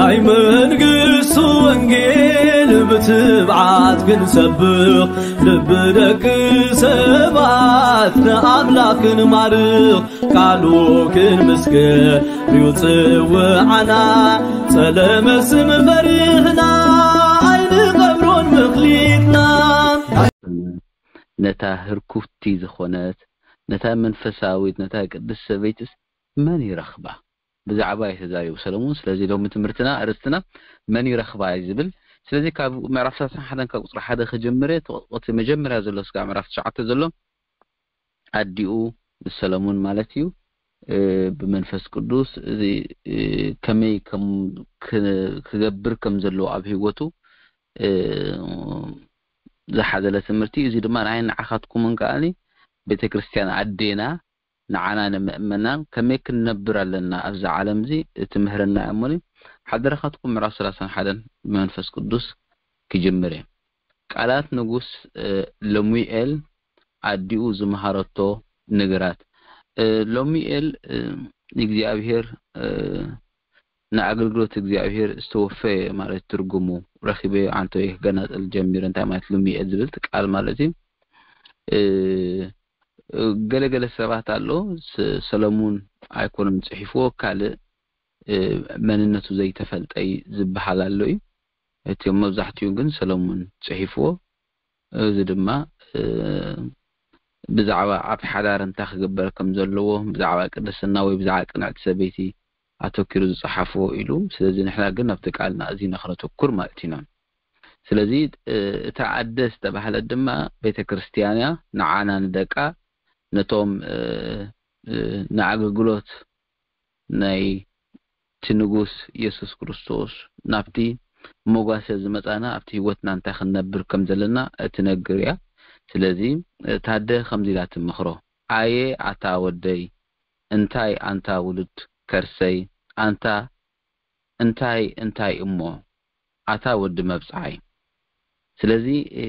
ናይ መንግስቱ ወንጌል ብትብዓት ክንሰብኽ፣ ልቢ ደቂ ሰባት ንኣምላኽ ክንማርኽ፣ ቃሉ ክንምስክር እዩ ጽውዓና። ጸለመ ስም ፈሪህና ኣይንቐብሮን ምኽሊትና። ነታ ህርኩቲ ዝኾነት፣ ነታ መንፈሳዊት፣ ነታ ቅድስት ሰበይትስ መን ይረኽባ? ብዛዕባ እዩ ተዛሪቡ ሰለሙን። ስለዚ ሎሚ ትምህርትና፣ ኣርእስትና መን ይረኽባ እዩ ዝብል። ስለዚ ካብ ምዕራፍ ሰላሳን ሓደን ካብ ቁጽሪ ሓደ ክጅምር እየ። እቲ መጀመርያ ዘሎ ስጋዕ ምዕራፍ ትሽዓተ ዘሎ ኣዲኡ ሰለሙን ማለት እዩ። እ፣ ብመንፈስ ቅዱስ እዚ፣ እ፣ ከመይ ከም ክ-፣ ክገብር ከም ዘለዎ ኣብ ህይወቱ፣ እ፣ ዝሓዘለ ትምህርቲ። እዚ ድማ ንዓይ ንዓኻትኩምን ከኣኒ ቤተክርስትያን ኣዴና ንዓና ንምእመናን ከመይ ክንነብር ኣለና ኣብዚ ዓለም እዚ ትምህረና እያ እሞ፣ ሓደራኻትኩም ምዕራፍ ሰላሳን ሓደን ብመንፈስ ቅዱስ ክጅምር እየ። ቃላት ንጉስ፣ እ፣ ለሙኤል ኣዲኡ ዝመሃረቶ ንግራት። እ፣ ለሙኤል፣ እ፣ እግዚኣብሔር፣ እ፣ ንኣገልግሎት እግዚኣብሔር ዝተወፈየ ማለት ትርጉሙ ረኺበዮ፣ ኣንተ ወይ ክገናጸል ጀሚረ፣ እንታይ ማለት ለሙኤል ዝብል ቃል ማለት እዩ። እ፣ ገለገለ ሰባት ኣሎ፣ ስ-፣ ሰለሙን ኣይኮነን ጽሒፍዎ፣ ካልእ፣ እ፣ መንነቱ ዘይተፈልጠይ ዝበሃል ኣሎ እዩ። እቲ መብዛሕትኡ ግን ሰለሙን ጽሒፍዎ። እዚ ድማ፣ እ፣ ብዛዕባ ኣብ ሓዳር እንታይ ክግበር ከም ዘለዎ፣ ብዛዕባ ቅድስና ወይ ብዛዕባ ቅንዕቲ ሰበይቲ ኣተኪሩ ዝጸሓፍዎ ኢሉ። ስለዚ ንሕና ግን ኣብቲ ቃልና እዚ ነኽነተኩር ማለት ኢና። ስለዚ፣ እ፣ እታ ኣደ ዝተባህለት ድማ ቤተ ክርስቲያን እያ። ንዓና ንደቃ፣ ነቶም፣ እ፣ እ፣ ንኣገልግሎት ናይ እቲ ንጉስ የሱስ ክርስቶስ ናብቲ መጓሰ ዝመጻና ኣብቲ ህይወትና እንታይ ክንነብር ከም ዘለና እትነግር እያ። ስለዚ፣ እ፣ ታደ ከምዚ ኢላ ትመኽሮ፣ ኣየ ኣታ ወደይ፣ እንታይ ኣንታ ውሉድ ከርሰይ፣ ኣንታ እንታይ እንታይ እሞ፣ ኣታ ወዲ መብጽዓይ። ስለዚ፣ እ፣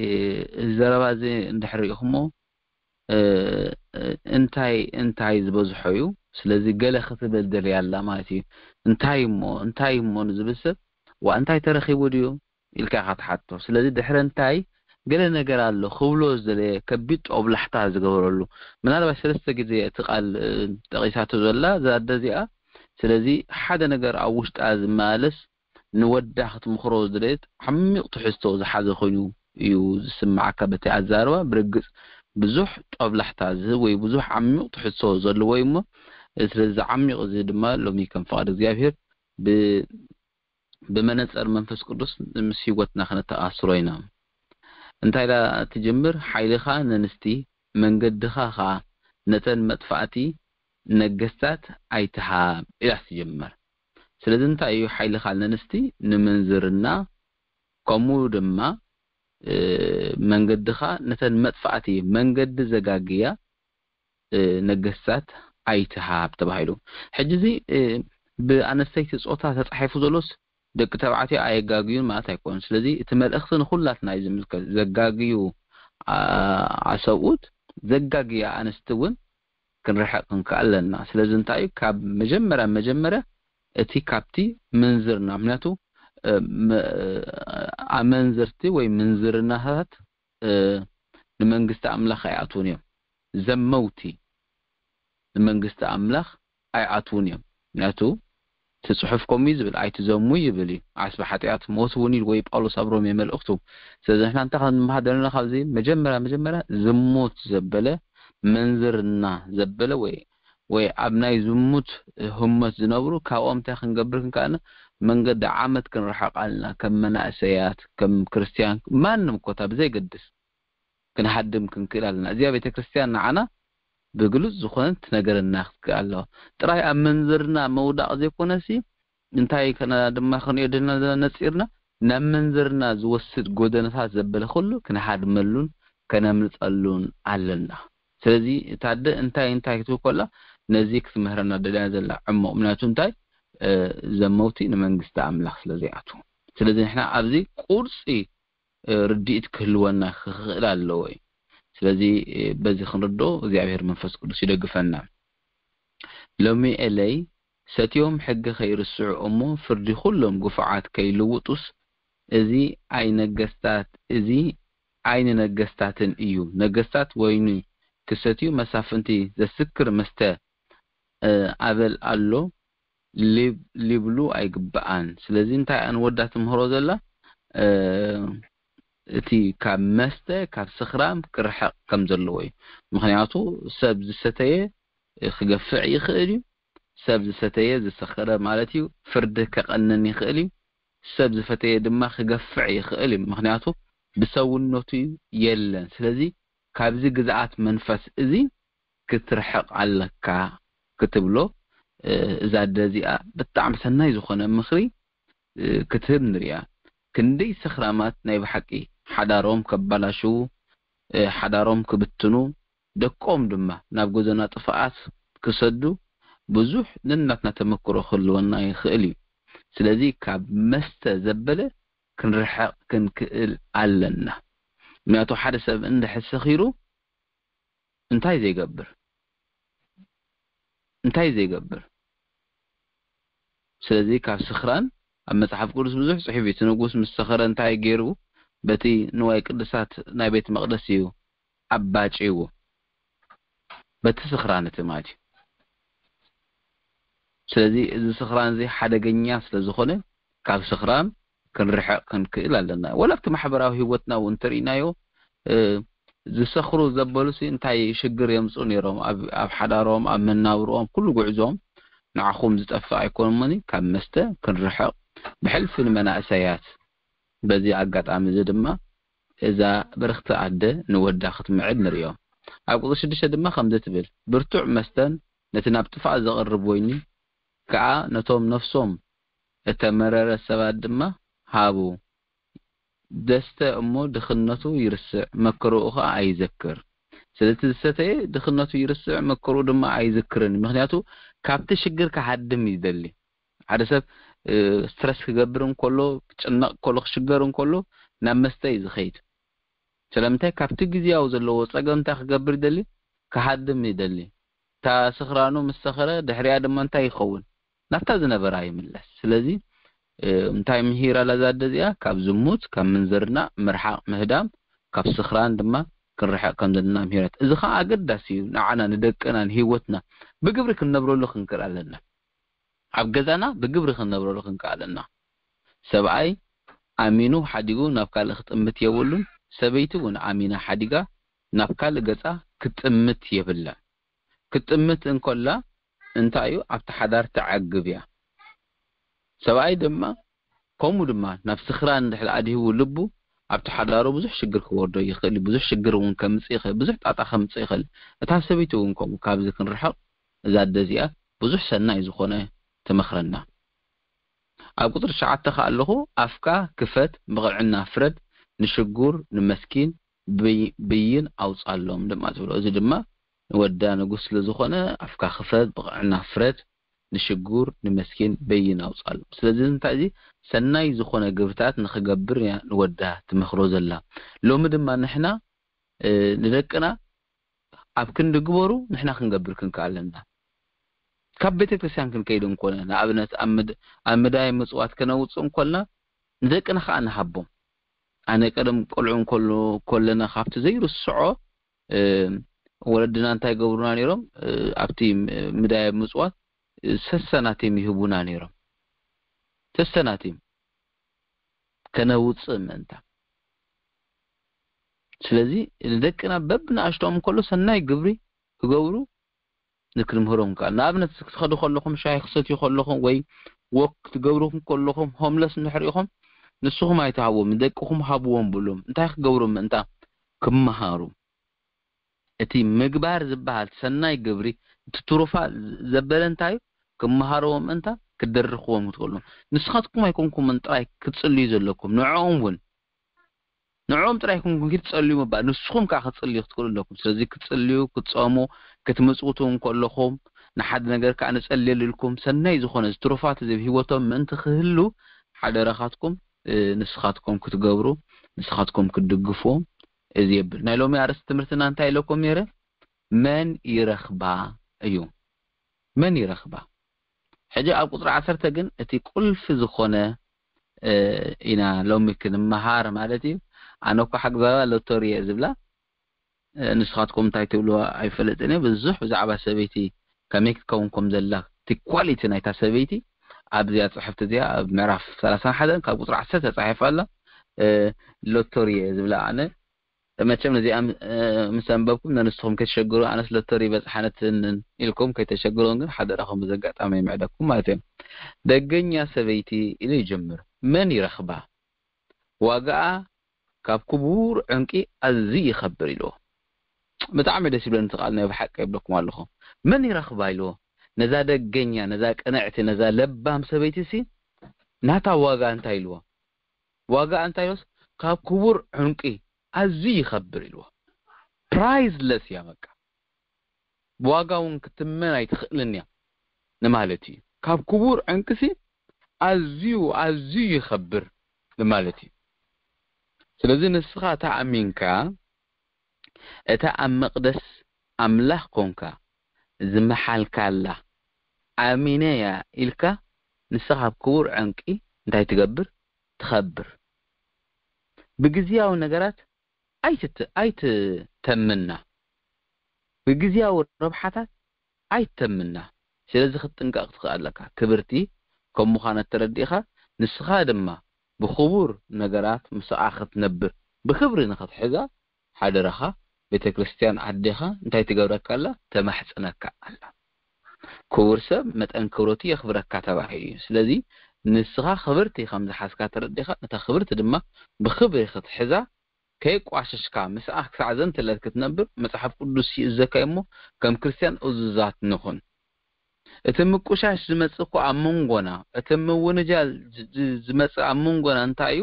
እዚ ዘረባ እዚ እንድሕር ርኢኹሞ፣ እ፣ እ፣ እንታይ እንታይ ዝበዝሖ እዩ። ስለዚ ገለ ክትብል ደልያ ኣላ ማለት እዩ። እንታይ እሞ፣ እንታይ እሞ ንዝብል ሰብ፣ ዋ እንታይ ተረኺቡ ድዩ ኢልካ ኢኻ ትሓቶ። ስለዚ ድሕሪ እንታይ ገለ ነገር ኣሎ ክብሎ ዝደለየ ከቢድ ጦብላሕታ ዝገበረሉ። ምናልባት ሰለስተ ግዜ እቲ ቃል፣ እ፣ ጠቒሳቶ ዘላ እዛ ኣደ እዚኣ። ስለዚ ሓደ ነገር ኣብ ውሽጣ ዝመላለስ ንወዳ ክትምኽሮ ዝደለየት ዓሚቕ ትሕዝቶ ዝሓዘ ኮይኑ እዩ ዝስምዓካ በቲ ኣዛርባ። ብርግጽ ብዙሕ ጦብላሕታ ዝህብ ወይ ብዙሕ ዓሚቕ ትሕዝቶ ዘለዎ እዩ እሞ፣ ስለዚ ዓሚቕ እዚ ድማ ሎሚ ከም ፍቓድ እግዚኣብሔር ብ-፣ ብመነጸር መንፈስ ቅዱስ ምስ ህይወትና ክነተኣስሮ ኢና። እንታይ ኢላ ትጅምር? ሓይልኻ ነንስቲ መንገድኻ ኸኣ ነተን መጥፋእቲ ነገስታት ኣይትሃብ ኢላ ትጅምር። ስለዚ እንታይ እዩ ሓይልኻ ነንስቲ? ንምንዝርና፣ ከምኡ ድማ፣ እ፣ መንገድኻ ነተን መጥፋእቲ መንገዲ ዘጋግያ፣ እ፣ ነገስታት ኣይትሃብ ተባሂሉ። ሕጂ እዚ፣ እ፣ ብኣነስተይቲ ጾታ ተጻሒፉ ዘሎስ ደቂ ተባዕትዮ ኣየጋግዩን ማለት ኣይኮነን። ስለዚ እቲ መልእኽቲ ንኹላትና እዩ ዝምልከት። ዘጋግዩ፣ ኣ-፣ ኣሰብኡት፣ ዘጋግያ ኣንስቲ እውን ክንርሕቕ ክንክእል ኣለና። ስለዚ እንታይ እዩ? ካብ መጀመርያ መጀመርያ እቲ ካብቲ ምንዝርና፣ ምክንያቱ፣ እ፣ መ-፣ ኣመንዝርቲ ወይ ምንዝርናታት፣ እ፣ ንመንግስቲ ኣምላኽ ኣይኣትዉን እዮም። ዘመውቲ ንመንግስቲ ኣምላኽ ኣይኣትዉን እዮም። ምክንያቱ እቲ ጽሑፍ ከምኡ እዩ ዝብል፣ "ኣይትዘሙ" ይብል እዩ። ዓስቢ ሓጢኣት ሞት እውን ኢሉ ወይ ጳውሎስ ኣብ ሮሜ መልእኽቱ። ስለዚ ንሕና እንታይ ክንመሃር ዘለና ካብዚ? መጀመርያ መጀመርያ ዝሙት ዘበለ፣ ምንዝርና ዘበለ ወይ፣ ወይ ኣብ ናይ ዝሙት ህሞት ዝነብሩ፣ ካብኦም እንታይ ክንገብር ክንከኣልና? መንገዲ ዓመት ክንርሕቕ ኣለና። ከም መናእሰያት፣ ከም ክርስትያን፣ ማንም ኮታ ብዘይገድስ ክንሃድም ክንክእል ኣለና። እዚኣ ቤተ ክርስቲያን ንዓና ብግሉጽ ዝኾነት ትነገረና ክትክእል ኣለዋ። ጥራይ ኣብ መንዝርና ምውዳቕ ዘይኮነሲ፣ እንታይ ከና ድማ ክንሪኦ ደልና ዘለና ነጺርና፣ ናብ መንዝርና ዝወስድ ጎደናታት ዘበለ ኩሉ ክንሃድመሉን ከነምልጠሉን ኣለና። ስለዚ እታ ኣደ እንታይ እንታይ ክትብል ከላ፣ ነዚ ክትምህረና ደልያ ዘላ ዕሙቕ፣ ምክንያቱ እንታይ፣ እ፣ ዘመውቲ ንመንግስቲ ኣምላኽ ስለ ዘይኣትዉ። ስለዚ ንሕና ኣብዚ ቁርጺ፣ እ፣ ርድኢት ክህልወና ክኽእል ኣለዎ እዩ። ስለዚ፣ እ፣ በዚ ክንርድኦ እግዚኣብሔር መንፈስ ቅዱስ ይደግፈና። ሎሚ ኤለይ ሰትዮም ሕጊ ከይርስዑ እሞ ፍርዲ ኩሎም ግፉዓት ከይልውጡስ፣ እዚ ኣይ ነገስታት፣ እዚ ኣይ ንነገስታትን እዩ። ነገስታት ወይኒ ክሰትዩ፣ መሳፍንቲ ዘስክር መስተ፣ እ፣ ኣበል ኣሎ ሊብ-፣ ሊብሉ ኣይግብኣን። ስለዚ እንታይ እያ ንወዳ ትምህሮ ዘላ? እ፣ እቲ ካብ መስተ፣ ካብ ስኽራም ክርሕቕ ከም ዘለዎ እዩ። ምኽንያቱ ሰብ ዝሰተየ ክገፍዕ ይኽእል እዩ። ሰብ ዝሰተየ፣ ዝሰኸረ ማለት እዩ፣ ፍርዲ ከቐንን ይኽእል እዩ። ሰብ ዝፈተየ ድማ ክገፍዕ ይኽእል እዩ። ምኽንያቱ ብሰውነቱ የለን። ስለዚ ካብዚ ግዝኣት መንፈስ እዚ ክትርሕቕ ኣለካ ክትብሎ፣ እ፣ እዛ ኣደ እዚኣ ብጣዕሚ ሰናይ ዝኾነ ምኽሪ፣ እ፣ ክትህብ ንሪኣ። ክንደይ ሰኽራማት ናይ ብሓቂ ሓዳሮም ከባላሽዉ፣ እ፣ ሓዳሮም ክብትኑ፣ ደቆም ድማ ናብ ጎደና ጥፍኣት ክሰዱ ብዙሕ ነናትና ተመክሮ ክህልወና ይኽእል እዩ። ስለዚ ካብ መስተ ዘበለ ክንርሕቕ ክንክእል ኣለና። ምክንያቱ ሓደ ሰብ እንድሕር ሰኺሩ እንታይ ዘይገብር? እንታይ ዘይገብር? ስለዚ ካብ ስኽራን ኣብ መጽሓፍ ቅዱስ ብዙሕ ጽሑፍ እዩ። እቲ ንጉስ ምስ ሰኸረ እንታይ ገይሩ? በቲ ንዋይ ቅዱሳት ናይ ቤት መቕደስ እዩ ኣባጭዎ። በቲ ስኽራን እቲ ማለት እዩ። ስለዚ እዚ ስኽራን እዚ ሓደገኛ ስለ ዝኾነ ካብ ስኽራን ክንርሕቕ ክንክእል ኣለና። ወላ ኣብቲ ማሕበራዊ ህይወትና እውን እንተርኢናዮ፣ እ፣ ዝሰኽሩ ዘበሉሲ እንታይ ሽግር የምጽኡ ነይሮም? ኣብ፣ ኣብ ሓዳሮም፣ ኣብ መናብርኦም፣ ኩሉ ጉዕዞም ንዓኹም ዝጠፍእ ኣይኮንሞኒ። ካብ መስተ ክንርሕቕ ብሕልፊ ንመናእሰያት በዚ ኣጋጣሚ እዚ ድማ እዛ ብርኽቲ ኣደ ንወዳ ክትምዕድ ንርእዮ። ኣብ ቁጽሪ ሽዱሽተ ድማ ከምዚ ትብል፣ ብርቱዕ መስተን ነቲ ናብ ጥፍኣት ዘቕርብ ወይኒ ከኣ ነቶም ነፍሶም እተመረረ ሰባት ድማ ሃቡ። ደስተ እሞ ድኽነቱ ይርስዕ፣ መከራኡ ኸኣ ኣይዘክር። ስለቲ ዝሰተየ ድኽነቱ ይርስዕ፣ መከራኡ ድማ ኣይዝክርን። ምኽንያቱ ካብቲ ሽግር ክሃድም ይደሊ። ሓደ ሰብ፣ እ፣ ስትረስ ክገብር እንከሎ፣ ክጭነቕ ከሎ፣ ክሽገር እንከሎ ናብ መስተ እዩ ዝኸይድ። ስለምንታይ? ካብቲ ግዝያዊ ዘለዎ ጸገም እንታይ ክገብር ይደሊ? ክሃድም ይደሊ። እታ ስኽራኑ ምስ ሰኸረ ድሕሪኣ ድማ እንታይ ይኸውን? ናብታ ዝነበራ ይምለስ። ስለዚ፣ እ፣ እንታይ ምሂራ ኣላ እዛ ኣደ እዚኣ? ካብ ዝሙት፣ ካብ ምንዝርና ምርሓቕ ምህዳም፣ ካብ ስኽራን ድማ ክንርሕቕ ከም ዘለና ምሂረት። እዚ ኸዓ ኣገዳሲ እዩ ንዓና፣ ንደቅና፣ ንህይወትና ብግብሪ ክንነብረሉ ክንክእል ኣለና። ኣብ ገዛና ብግብሪ ክንነብረሉ ክንክእል ኣለና። ሰብኣይ ኣሚኑ ሓዲጉ ናብ ካልእ ክጥምት የብሉን። ሰበይቲ እውን ኣሚና ሓዲጋ ናብ ካልእ ገጻ ክትጥምት የብላን። ክትጥምት እንከላ እንታይ እዩ? ኣብቲ ሓዳር ትዓግብ እያ። ሰብኣይ ድማ ከምኡ ድማ ናብ ስኽራን እንድሕር ኣድሂቡ ልቡ፣ ኣብቲ ሓዳሩ ብዙሕ ሽግር ክወርዶ ይኽእል እዩ። ብዙሕ ሽግር እውን ከምጽእ ይኽእል፣ ብዙሕ ጣጣ ከምጽእ ይኽእል። እታ ሰበይቲ እውን ከምኡ። ካብዚ ክንርሕቕ እዛ ኣደ እዚኣ ብዙሕ ሰናይ ዝኾነ ትመኽረና። ኣብ ቁጽሪ ትሽዓተ ከኣ ኣለኹ፣ ኣፍካ ክፈት፣ ብቕዕና ፍረድ፣ ንሽጉር ንመስኪን ብይ-፣ ብይን ኣውጻሎም ድማ ትብሎ። እዚ ድማ ንወዳ ንጉስ ስለ ዝኾነ፣ ኣፍካ ክፈት፣ ብቕዕና ፍረድ፣ ንሽጉር ንመስኪን በይን ኣውጻሎም። ስለዚ እንታይ፣ እዚ ሰናይ ዝኾነ ግብርታት ንኽገብር እያ ንወዳ ትመኽሮ ዘላ። ሎሚ ድማ ንሕና፣ እ፣ ንደቅና ኣብ ክንዲ ግበሩ ንሕና ክንገብር ክንክእል ኣለና። ካብ ቤተ ክርስቲያን ክንከይድ እንኮነ፣ ንኣብነት ኣብ ምድ-፣ ኣብ ምዳይ ምጽዋት ከነውጽእ እንኮልና ንደቅና ከኣ ንሃቦም። ኣነ ቀደም ቆልዑ እንኮሎ-፣ ኮለና ካብቲ ዘይርስዖ፣ እ፣ ወለድና እንታይ ገብሩና ነይሮም? እ፣ ኣብቲ ም-፣ ምዳይ ምጽዋት፣ እ፣ ሰሰናቲም ይህቡና ነይሮም። ሰሰናቲም ከነውጽእ ምእንታ። ስለዚ ንደቅና በብንኣሽቶኦም እንከሎ ሰናይ ግብሪ ክገብሩ ንክንምህሮም ከኣል። ንኣብነት ክትኸዱ ከለኹም፣ ሻሂ ክሰትዩ ከለኹም ወይ ወክ ክትገብሩ ከለኹም፣ ሆምለስ እንድሕር ኢኹም፣ ንስኹም ኣይትሃብዎም፣ ንደቅኹም ሃብዎም ብሎም። እንታይ ክገብሩ ምእንታ? ክመሃሩ። እቲ ምግባር ዝበሃል ሰናይ ግብሪ፣ እቲ ትሩፋት ዘበለ እንታይ እዩ? ክመሃርዎም ምእንታ፣ ክደርኽዎም ክትኽእሉ። ንስኻትኩም ኣይኮንኩምን ጥራይ ክትጽልዩ ዘለኩም፣ ንዕኦም እውን። ንዕኦም ጥራይ ኣይኮንኩም ክትጸልዩ ምባል፣ ንስኹም ከኣ ክትጽልዩ ክትኽእሉ ኣለኩም። ስለዚ ክትጽልዩ፣ ክትጸሙ፣ ክትምጽውቱ እንከለኹም፣ ንሓደ ነገር ከኣ ንጸልየሉ ኢልኩም፣ ሰናይ ዝኾነ እዚ ትሩፋት እዚ ኣብ ህይወቶም ምእንቲ ክህሉ፣ ሓደራኻትኩም፣ እ፣ ንስኻትኩም ክትገብሩ፣ ንስኻትኩም ክትድግፍዎም፣ እዚ የብል። ናይ ሎሚ ኣርእስቲ ትምህርትና እንታይ ኢለኩም ነይረ? መን ይረኽባ እዩ። መን ይረኽባ? ሕጂ ኣብ ቁፅሪ ዓሰርተ ግን እቲ ቁልፊ ዝኾነ ኢና ሎሚ ክንመሃር ማለት እዩ። ኣነ እኮ ሓግዛባ ሎቶሪ እየ ዝብላ፣ ንስኻትኩም እንታይ ትብልዋ ኣይፈልጥን እየ። ብዙሕ ብዛዕባ ሰበይቲ ከመይ ክትከውን ከም ዘላ፣ እቲ ኳሊቲ ናይታ ሰበይቲ ኣብዚኣ ፅሕፍቲ እዚኣ ኣብ ምዕራፍ ሰላሳን ሓደን ካብ ቁፅሪ ዓሰርተ ተፃሒፋ ኣላ። ሎቶሪ እየ ዝብላ ኣነ። መቸም ነዚኣ ምስ ኣንበብኩም ንስኹም ከይተሸግሩ፣ ኣነስ ሎተሪ በፅሓነትን ኢልኩም ከይተሸግሩን ግን ሓደራኹም በዚ ኣጋጣሚ ይምዕደኩም ማለት እዩ። ደገኛ ሰበይቲ ኢሉ ይጀምር። መን ይረኽባ? ዋጋኣ ካብ ክቡር ዕንቂ ኣዝዩ ይኸብር ኢልዎ። ብጣዕሚ ደስ ይብለኒ እቲ ቃል፣ ናይ ብሓቂ ይብለኩም ኣለኹ። መን ይረኽባ ኢልዎ። ነዛ ደገኛ፣ ነዛ ቅንዕቲ፣ ነዛ ለባም ሰበይቲ ሲ ናታ ዋጋ እንታይ ኢልዎ? ዋጋ እንታይ ኢልዎስ ካብ ክቡር ዕንቂ ኣዝዩ ይኸብር ኢልዎ። ፕራይዝለስ እያ በቃ። ብዋጋ እውን ክትመን ኣይትኽእልን እያ ንማለት እዩ። ካብ ክቡር ዕንቅሲ ኣዝዩ ኣዝዩ ይኸብር ንማለት እዩ። ስለዚ ንስኻ እታ ኣሚንካ እታ ኣብ መቕደስ ኣምላኽ ኮንካ ዝመሓልካላ ኣሚነ እያ ኢልካ ንስኻ ካብ ክቡር ዕንቂ እንታይ ትገብር? ትኸብር። ብግዝያዊ ነገራት ኣይትት- ኣይትተምና። ብግዝያዊ ረብሓታት ኣይትተምና። ስለዚ ክትጥንቀቕ ትኽእል ኣለካ። ክብርቲ ከም ምዃና ተረዲእኻ ንስኻ ድማ ብኽቡር ነገራት ምስኣ ክትነብር ብክብሪ ንኽትሕዛ ሓደራኻ ቤተ ክርስቲያን ዓዴኻ እንታይ ትገብረካ ኣላ? ተማሕጽነካ ኣላ። ክቡር ሰብ መጠን ክብረቱ የኽብረካ ተባሂሉ እዩ። ስለዚ ንስኻ ክብርቲ ከም ዝሓዝካ ተረዲእኻ ነታ ክብርቲ ድማ ብክብሪ ክትሕዛ ከይቋሸሽካ ምስኣ ክሳዕ ዘንትለት ክትነብር መጽሓፍ ቅዱስ ይእዘካ እሞ ከም ክርስቲያን እዙዛት ንኹን። እቲ ምቁሻሽ ዝመጽእ እኮ ኣብ መንጎና፣ እቲ ምውንጃል ዝ- ዝ- ዝመጽእ ኣብ መንጎና እንታይ እዩ?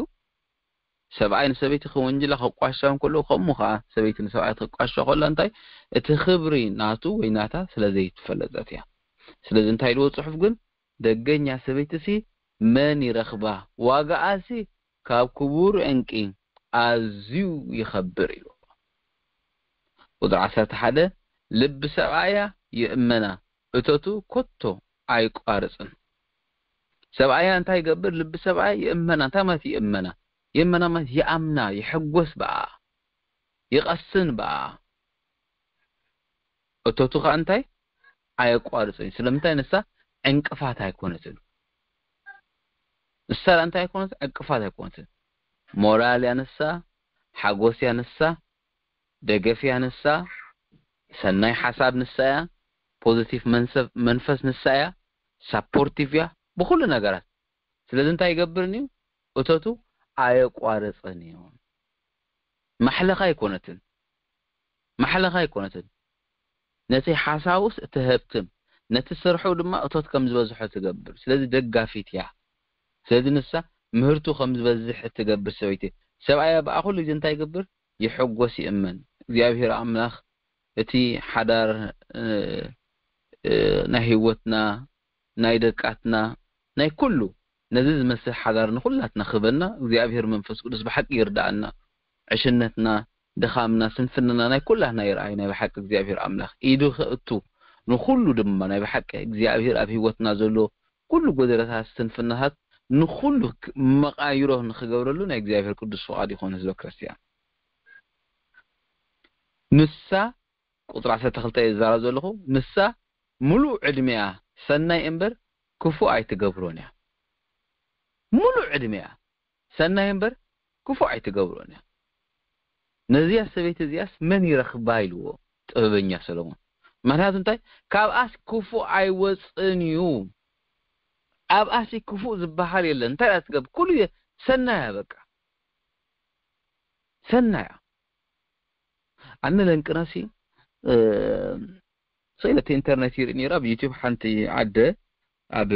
ሰብኣይ ንሰበይቲ ክወንጅላ ክቋሻ እንከሎ ከምኡ ከዓ ሰበይቲ ንሰብኣይ ክትቋሻ ከላ እንታይ እቲ ክብሪ ናቱ ወይ ናታ ስለ ዘይትፈለጠት እያ። ስለዚ እንታይ ኢልዎ ጽሑፍ ግን ደገኛ ሰበይትሲ መን ይረኽባ? ዋጋኣሲ ካብ ክቡር ዕንቂ ኣዝዩ ይኸብር ኢሉ። ቁፅሪ ዓሰርተ ሓደ ልቢ ሰብኣያ ይእመና እቶቱ ኮቶ ኣይቋርፅን። ሰብኣያ እንታይ ይገብር? ልቢ ሰብኣያ ይእመና። እንታይ ማለት ይእመና? ይእመና ማለት ይኣምና፣ ይሕጎስ ብኣ፣ ይቐስን ብኣ። እቶቱ ከዓ እንታይ ኣየቋርፅን። ስለምንታይ ንሳ ዕንቅፋት ኣይኮነትን። ንሳ እንታይ ኣይኮነትን፣ ዕንቅፋት ኣይኮነትን። ሞራል እያ ንሳ፣ ሓጎስ እያ ንሳ፣ ደገፍ እያ ንሳ፣ ሰናይ ሓሳብ ንሳ እያ፣ ፖዚቲቭ መንሰፍ- መንፈስ ንሳ እያ፣ ሳፖርቲቭ እያ ብኩሉ ነገራት። ስለዚ እንታይ ይገብርን እዩ? እቶቱ ኣየቋረፅን እዩ። ማሕለኻ ኣይኮነትን፣ ማሕለኻ ኣይኮነትን። ነቲ ሓሳቡስ እትሀብትም፣ ነቲ ስርሑ ድማ እቶት ከም ዝበዝሖ ትገብር። ስለዚ ደጋፊት እያ። ስለዚ ንሳ ምህርቱ ከም ዝበዝሕ እትገብር ሰበይቲ። ሰብኣያ ብኣ ኩሉ ግዜ እንታይ ይገብር? ይሕጎስ፣ ይእመን። እግዚኣብሔር ኣምላኽ እቲ ሓዳር ናይ ህይወትና፣ ናይ ደቃትና፣ ናይ ኩሉ ነዚ ዝመስል ሓዳር ንኩላትና ክበና እግዚኣብሔር መንፈስ ቅዱስ ብሓቂ ይርዳኣና። ዕሽነትና፣ ድኻምና፣ ስንፍንና ናይ ኩላትና ይርኣይ። ናይ ብሓቂ እግዚኣብሔር ኣምላኽ ኢዱ ከእቱ ንኩሉ ድማ ናይ ብሓቂ እግዚኣብሔር ኣብ ህይወትና ዘሎ ኩሉ ጎደለታት፣ ስንፍናታት ንኩሉ ክ- መቃይሮ ንክገብረሉ ናይ እግዚኣብሔር ቅዱስ ፍቓድ ይኾን ህዝበ ክርስቲያን። ንሳ ቁፅሪ ዓሰርተ ክልተ እየ ዝዛረብ ዘለኹ። ንሳ ሙሉእ ዕድሜኣ ሰናይ እምበር ክፉእ ኣይትገብሮን እያ። ሙሉእ ዕድሜኣ ሰናይ እምበር ክፉእ ኣይትገብሮን እያ። ነዚያ ሰበይቲ እዚኣስ መን ይረኽባ ኢልዎ ጥበበኛ ሰሎሞን። ምክንያቱ እንታይ? ካብኣስ ክፉእ ኣይወፅን እዩ። ኣብኣሲ ክፉእ ዝበሃል የለን። እንታይ እያ ትገብር? ኩሉ ግዜ ሰናያ በቃ ሰናያ። ኣነ ለንቅናሲ ስኢለ እቲ ኢንተርኔት ይርኢ ነይረ። ኣብ ዩቲዩብ ሓንቲ ዓደ ኣብ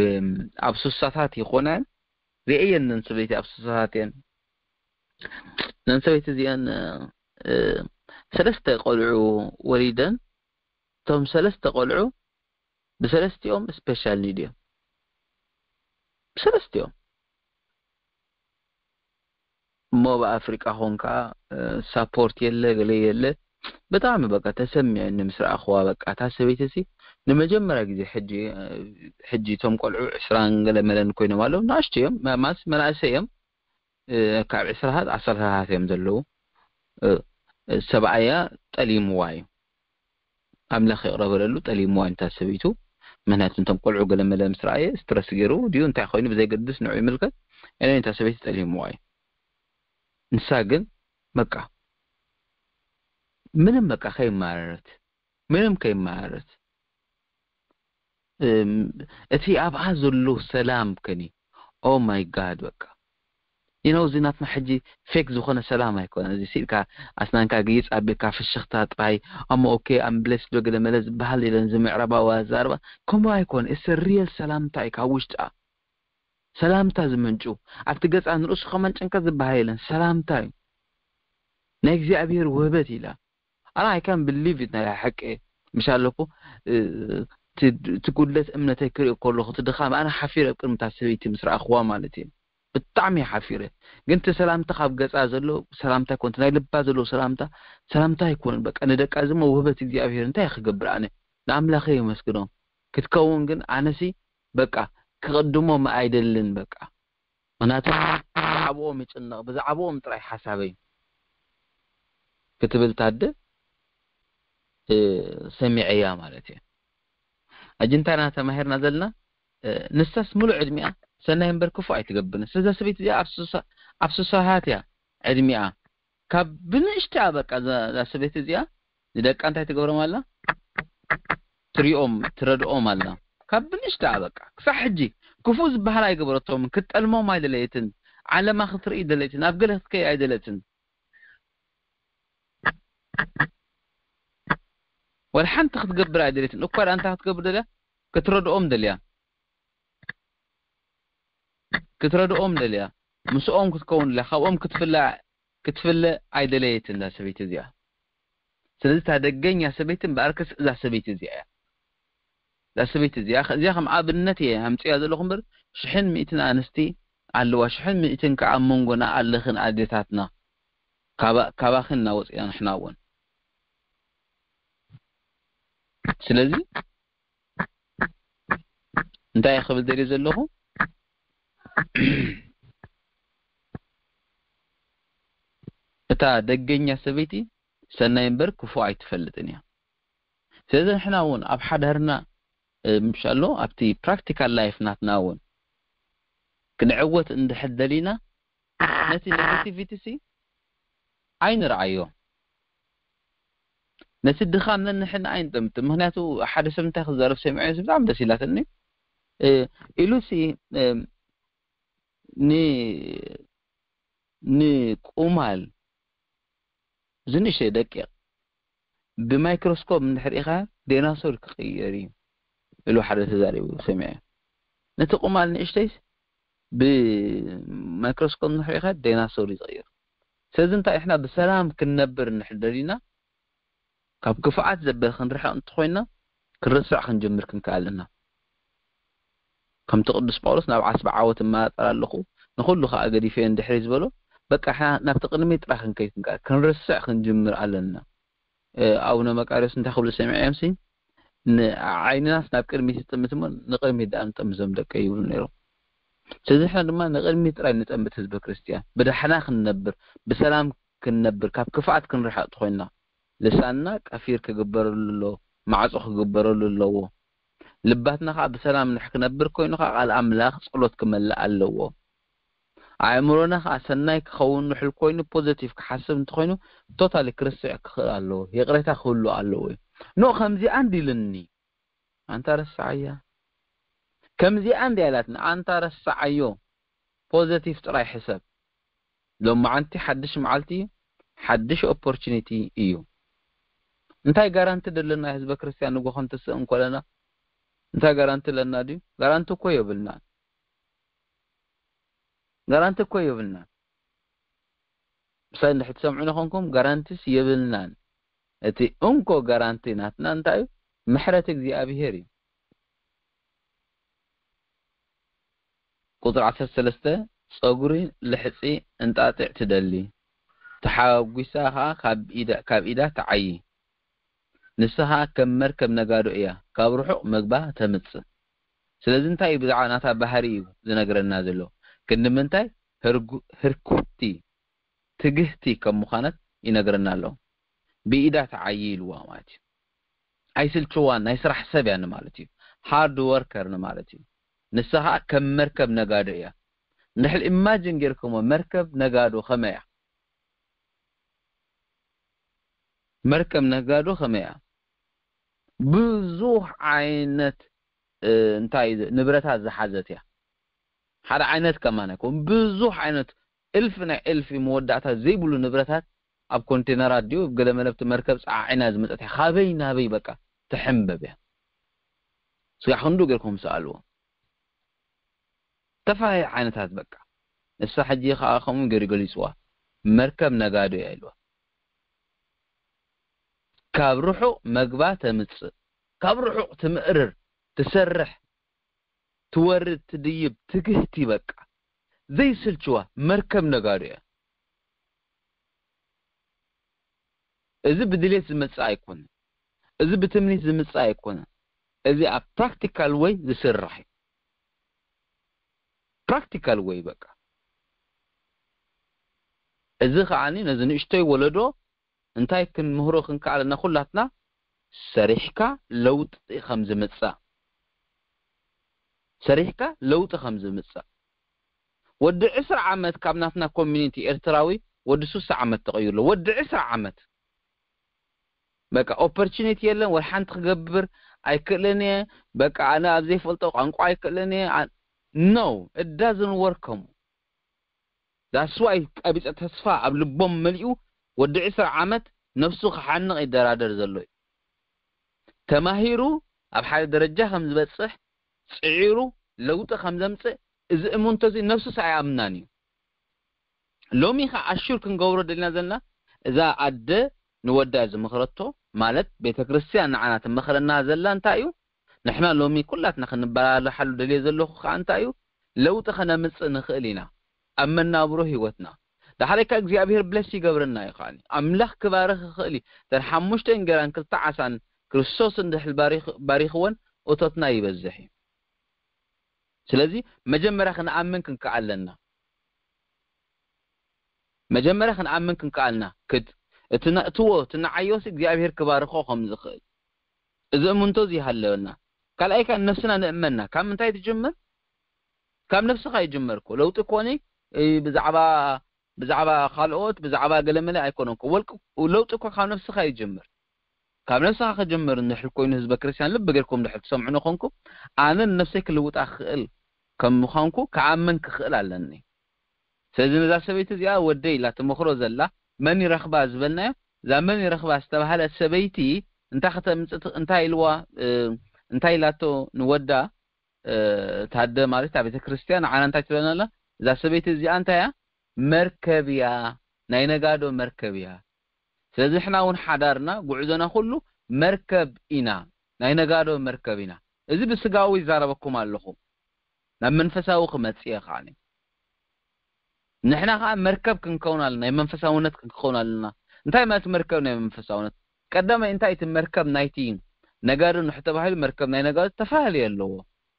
ኣብ ሱሳታት ይኾናን ርእየን ነን ሰበይቲ ኣብ ሱሳታት እየን። ነን ሰበይቲ እዚአን ሰለስተ ቆልዑ ወሊደን። እቶም ሰለስተ ቆልዑ ብሰለስቲኦም ስፔሻል ኒድ እዮም። ብሰለስቲኦም እሞ ኣብ ኣፍሪቃ ኾንካ ሳፖርት የለ ገለ የለ። ብጣዕሚ በቃ ተሰሚዑኒ ምስ ረኣኽዋ። በቃ እታ ሰበይቲ ሲ ንመጀመርያ ግዜ ሕጂ፣ ሕጂ እቶም ቆልዑ ዕስራን ገለ መለን ኮይኖም ኣለዉ። ንኣሽቱ እዮም፣ ማ-፣ ማለት መናእሰይ እዮም። እ፣ ካብ ዕስራታት ዓሰርታታት እዮም ዘለዉ። እ፣ ሰብኣያ ጠሊምዋ እዩ። ኣምላኽ ይቕረ በለሉ፣ ጠሊምዋ እዩ ነታ ሰበይቱ። ምኽንያቱ እቶም ቆልዑ ገለ መለ ምስ ረኣየ ስትረስ ገይሩ ድዩ እንታይ ኮይኑ ብዘይገድስ ንዑ ይምልከት። ኤኒወይ፣ ነታ ሰበይቲ ጠሊምዋ እዩ። ንሳ ግን በቃ ምንም በቃ ከይማረረት፣ ምንም ከይማረረት፣ እም፣ እቲ ኣብኣ ዘሎ ሰላም ከኒ፣ ኦ ማይ ጋድ፣ በቃ you know፣ እዚ ናትና ሕጂ ፌክ ዝኾነ ሰላም ኣይኮነ። እዚ ሲልካ ኣስናንካ ግይጽ ኣቢልካ ፍሽኽታ ጥራይ፣ ኣሞ ኦኬ፣ ኣም ብሌስ ዶ ገለ መለ ዝበሃል የለን፣ እዚ ምዕራባዊ ኣዛርባ ከምኡ ኣይኮነ። እሰ ሪየል ሰላምታ እዩ ካብ ውሽጣ። ሰላምታ ዝመንጩ፣ ኣብቲ ገጻ ንርእሱ ከመንጨንካ ዝበሃል የለን። ሰላምታ እዩ። ናይ እግዚኣብሔር ውህበት ኢላ። ኣነ I can't believe it፣ ናይ ሓቂ ምሽ ኣለኩ። እ፣ እቲ፣ እቲ ጉድለት እምነተይ ክርኢ ከለኹ፣ እቲ ድኻም፣ ኣነ ሓፊረ ኣብ ቅድሚ እታ ሰበይቲ ምስ ረኣኽዋ ማለት እዩ። ብጣዕሚ እየ ሓፊረ። ግን እቲ ሰላምታ ካብ ገጻ ዘሎ ሰላምታ ኣይኮነ፣ ናይ ልባ ዘሎ ሰላምታ፣ ሰላምታ ኣይኮነን። በቃ ንደቃ እዚ እሞ ውህበት እግዚኣብሔር እንታይ ክገብር ኣነ? ንኣምላኸ የመስግኖ። ክትከውን ግን ኣነሲ በቃ ክቕድሞም ኣይደልን በቃ። ምኽንያቱ ብዛዕባኦም ይጭነቕ፣ ብዛዕባኦም ጥራይ ሓሳበይ ክትብል ታደ፣ እ፣ ሰሚዐያ ማለት እዩ። ኣጅንታና ተማሂርና ዘለና፣ እ፣ ንሳስ ሙሉእ ዕድሚኣ ሰናይ እምበር ክፉእ ኣይትገብርን። ስለዚ ሰበይቲ እዚኣ ኣብ ሱሳ-፣ ኣብ ሱሳሃት እያ ዕድሚኣ። ካብ ብንእሽተኣ በቃ እዛ፣ እዛ ሰበይቲ እዚኣ ንደቃ እንታይ ትገብሮም ኣላ? ትሪኦም፣ ትረድኦም ኣላ። ካብ ብንእሽተኣ በቃ ክሳዕ ሕጂ ክፉእ ዝበሃል ኣይገበረቶምን። ክትጠልሞም ኣይደለየትን። ዓለማ ክትርኢ ደለየትን። ኣብ ገለ ክትከይ ኣይደለትን። ወላ ሓንቲ ክትገብር ኣይደለየትን። እኳ ደኣ እንታይ ክትገብር ደልያ? ክትረድኦም ደልያ። ክትረድኦም ደልያ። ምስኦም ክትከውን ደልያ። ካብኦም ክትፍለ፣ ክትፍለ ኣይደለየትን እዛ ሰበይቲ እዚኣ። ስለዚ እታ ደገኛ ሰበይቲ እምበኣርከስ እዛ ሰበይቲ እዚኣ እያ። እዛ ሰበይቲ እዚኣ፣ እዚኣ ከም ኣብነት እየ ኣምፅያ ዘለኹ እምበር ሽሕን ሚእትን ኣንስቲ ኣለዋ። ሽሕን ሚእትን ከዓ ኣብ መንጎና ኣለኽን ኣዴታትና። ካባ-፣ ካባኽን እናወፅና ንሕና እውን። ስለዚ እንታይ እየ ክብል ደልየ ዘለኹ? እታ ደገኛ ሰበይቲ ሰናይ እምበር ክፉእ ኣይትፈልጥን እያ። ስለዚ ንሕና እውን ኣብ ሓዳርና፣ እ፣ ምሽ ኣሎ ኣብቲ ፕራክቲካል ላይፍ ናትና እውን ክንዕወት እንድሕር ደሊና ነቲ ኔጋቲቪቲ ሲ ኣይንርኣዮ። ነቲ ድኻም ነንሕና ኣይንጠምት። ምኽንያቱ ሓደ ሰብ እንታይ ክዛረብ ሰሚዐ ብጣዕሚ ደስ ኢላትኒ። እ፣ ኢሉ ሲ፣ እ፣ ን-፣ ንቁማል ዝንእሽተይ ደቂቕ ብማይክሮስኮፕ እንድሕር ኢኻ ዳይናሶር ክቕየር እዩ ኢሉ ሓደ ተዛሪቡ ሰሚዐ። ነቲ ቁማል ንእሽተይስ ብማይክሮስኮፕ እንድሕር ኢኻ ዳይናሶር ይቕየር። ስለዚ እንታይ ኢሕና ብሰላም ክንነብር እንድሕር ደሊና ካብ ክፍኣት ዘበል ክንርሕቕ እንተኾይና ክንርስዕ ክንጅምር ክንከኣል ኣለና። ከምቲ ቅዱስ ጳውሎስ ናብ ዓስቢ ዓወት እመጣጠር ኣለኹ ንኹሉ ከዓ ገዲፈ እንድሕር ዝበሎ በቃ ንሕና ናብቲ ቅድሚት ጥራሕ ክንከይድ ክንከኣል ክንርስዕ ክንጅምር ኣለና። እ፣ ኣቡነ መቃርዮስ እንታይ ክብሉ ሰሚዐዮም ሲ ንዓይንናስ ናብ ቅድሚት ይጥምት እሞ ንቅድሚት ደኣ ንጠምዞም ደቀ ይብሉ ነይሮም። ስለዚ ንሕና ድማ ንቅድሚት ጥራይ ንጠምት ህዝበ ክርስቲያን ብዳሕና ክንነብር ብሰላም ክንነብር ካብ ክፍኣት ክንርሕቕ ተኾይንና ልሳንና ቀፊር ክግበረሉ ኣለዎ፣ ማዕጾ ክግበረሉ ኣለዎ። ልባትና ከዓ ብሰላም ንሕ ክነብር ኮይኑ ከዓ ቃል ኣምላኽ ጸሎት ክመልእ ኣለዎ። ኣእምሮና ከዓ ሰናይ ክኸውን ንሕል ኮይኑ ፖዘቲቭ ክሓስብ እንተኾይኑ ቶታሊ ክርስዕ ክኽእል ኣለዎ። ይቕሬታ ክህሉ ኣለዎ እዩ። ኖ ከምዚኣ እንዲልኒ ኣንታ ረስዓያ ከምዚኣ እንዲ ያላትና ኣንታ ረስዓዮ። ፖዘቲቭ ጥራይ ሕሰብ። ሎማዓንቲ ሓድሽ መዓልቲ እዩ፣ ሓድሽ ኦፖርቹኒቲ እዩ። እንታይ ጋራንቲ ደለና ህዝበ ክርስቲያን ንጎ ክንትስእ እንኮለና እንታይ ጋራንቲ ኣለና ድዩ? ጋራንቲ እኮ የብልናን። ጋራንቲ እኮ የብልናን። ምሳይ እንድሕር ትሰምዑ ንኾንኩም ጋራንቲስ የብልናን። እቲ እንኮ ጋራንቲ ናትና እንታይ እዩ? ምሕረት እግዚኣብሔር እዩ። ቁፅሪ ዓሰርተ ሰለስተ ጸጉሪ ልሕፂ እንጣጢዕ ትደሊ። ተሓጒሳ ኸኣ ካብ ኢዳ ትዓዪ። ንሳ ኸኣ ከም መርከብ ነጋዶ እያ፣ ካብ ርሑቕ መግባ ተምጽእ። ስለዚ እንታይ እዩ ብዛዕባ ናታ ባህሪ እዩ ዝነግረና ዘሎ? ክንዲ ምንታይ ህርኩቲ ትግህቲ ከም ምዃነት ይነግረና ኣሎ። ብኢዳ ትዓዪ ኢልዋ ማለት እዩ። ኣይስልችዋን፣ ናይ ስራሕ ሰብ እያ ንማለት እዩ። ሃርድ ወርከር ንማለት እዩ። ንሳ ኸኣ ከም መርከብ ነጋዶ እያ። እንድሕር ኢማጂን ጌርኩሞ መርከብ ነጋዶ ከመይ እያ? መርከብ ነጋዶ ከመይ እያ? ብዙሕ ዓይነት እንታይ ንብረታት ዝሓዘት እያ። ሓደ ዓይነት ከማን ኣይኮን፣ ብዙሕ ዓይነት እልፊ ናይ እልፊ መወዳእታ ዘይብሉ ንብረታት ኣብ ኮንቴነራት ድዩ ገለ መለብቲ መርከብ ጸዓዒና ዝመጸት እያ። ካበይ ናበይ በቃ ትሕንበብ እያ። ስጋዕ ክንዱ ጌርኩም ሰኣልዎ። ተፈላለየ ዓይነታት በቃ። ንሳ ሕጂ ኸኣ ከምኡ ገይሩ ገሊጽዋ። መርከብ ነጋዶ እያ ኢልዋ። ካብ ርሑቕ መግባ ተምጽእ፣ ካብ ርሑቕ ትምእርር፣ ትሰርሕ፣ ትወርድ፣ ትድይብ፣ ትግህቲ በቃ። ዘይስልችዋ መርከብ ነጋዶ እያ። እዚ ብድሌት ዝመጽእ ኣይኮነን። እዚ ብትምኒት ዝምጽእ ኣይኮነን። እዚ ኣብ ፕራክቲካል ወይ ዝስራሕ እዩ። ፕራክቲካል ወይ በቃ። እዚ ከዓኒ ነዚ ንእሽቶይ ወለዶ እንታይ ክንምህሮ ክንከኣለና ኩላትና ሰሪሕካ ለውጢ ከም ዝምጻእ ሰሪሕካ ለውጢ ከም ዝምጻእ ወዲ ዕስራ ዓመት ካብ ናትና ኮሚኒቲ ኤርትራዊ ወዲ ስሳ ዓመት ተቐይሩ ኣሎ። ወዲ ዕስራ ዓመት በቃ ኦፖርቹኒቲ የለን፣ ወላ ሓንቲ ክገብር ኣይክእልን እየ፣ በቃ ኣነ ኣብ ዘይፈልጦ ቋንቋ ኣይክእልን እየ። ኖ፣ it doesn't work ከምኡ። That's why ቀቢጸ ተስፋ ኣብ ልቦም መሊኡ ወዲ ዕስራ ዓመት ነፍሱ ክሓንቕ ይደራደር ዘሎ እዩ። ተማሂሩ ኣብ ሓደ ደረጃ ከም ዝበጽሕ ጽዒሩ ለውጢ ከም ዘምጽእ እዚ እምንቶ እዚ ነፍሱስ ኣይኣምናን እዩ። ሎሚ ኸዓ ኣሹር ክንገብሮ ደልና ዘለና እዛ ኣደ ንወዳ ዝመኽረቶ ማለት ቤተ ክርስቲያን ንዓና ትመኽረና ዘላ እንታይ እዩ? ንሕና ሎሚ ኩላትና ክንበላልሓሉ ደልየ ዘለኹ ኸዓ እንታይ እዩ? ለውጢ ከነምጽእ ንኽእል ኢና ኣብ መናብሮ ህይወትና። ዳሕራይ ከ እግዚኣብሔር ብለስ ይገብረና እዩ ከዓኒ። ኣምላኽ ክባርኽ ይኽእል እዩ። እተን ሓሙሽተ እንጌራን ክልተ ዓሳን ክርስቶስ እንድሕር ባሪኽ-፣ ባሪኽወን እቶትና ይበዝሕ እዩ። ስለዚ መጀመርያ ክንኣምን ክንከኣል ኣለና። መጀመርያ ክንኣምን ክንከኣልና ክድ-፣ እቲ ነእትዎ፣ እቲ ንዓዮስ እግዚኣብሔር ክባርኾ ከም ዝኽእል። እዚ እምንቶ እዚ ይሃለወልና። ካልኣይ ከኣ ነብስና ንእመና። ካብ ምንታይ ትጅምር? ካብ ነብስኻ ይጅመር እኮ። ለውጢ ኮኒ፣ እ፣ ብዛዕባ፣ ብዛዕባ ካልኦት፣ ብዛዕባ ገለመለ ኣይኮነን እኮ። ወልቂ-፣ ለውጢ እኮ ካብ ነብስኻ ይጅምር። ካብ ነብስኻ ክጅምር እንድሕር ኮይኑ ህዝበ ክርስትያን ልቢ ጌርኩም እንድሕር ትሰምዑኒ ኮንኩም፣ ኣነ ንነብሰይ ክልውጣ ክኽእል ከም ምዃንኩ ክኣምን ክኽእል ኣለኒ። ስለዚ ነዛ ሰበይቲ እዚኣ ወደይ ኢላ ትመኽሮ ዘላ መን ይረኽባ ዝበልናዮ፣ እዛ መን ይረኽባ ዝተባህለት ሰበይቲ እንታይ ከተምጽእ ት-፣ እንታይ ኢልዋ፣ እ፣ እንታይ ኢላቶ ንወዳ፣ እ፣ ታደ ማለት እታ ቤተ ክርስቲያን ንዓና እንታይ ትብለና ኣላ? እዛ ሰበይቲ እዚኣ እንታይ እያ? መርከብ እያ፣ ናይ ነጋዶ መርከብ እያ። ስለዚ ንሕና እውን ሓዳርና፣ ጉዕዞና ኩሉ መርከብ ኢና፣ ናይ ነጋዶ መርከብ ኢና። እዚ ብስጋዊ ይዛረበኩም ኣለኹ፣ ናብ መንፈሳዊ ክመጽእ እየ ከዓኒ። ንሕና ከኣ መርከብ ክንከውን ኣለና፣ ናይ መንፈሳውነት ክንከውን ኣለና። እንታይ ማለት መርከብ ናይ መንፈሳውነት? ቀዳማይ እንታይ እቲ መርከብ ናይቲ ነጋዶ ንሕ ተባሂሉ መርከብ ናይ ነጋዶ ዝተፈላለየ ኣለዎ።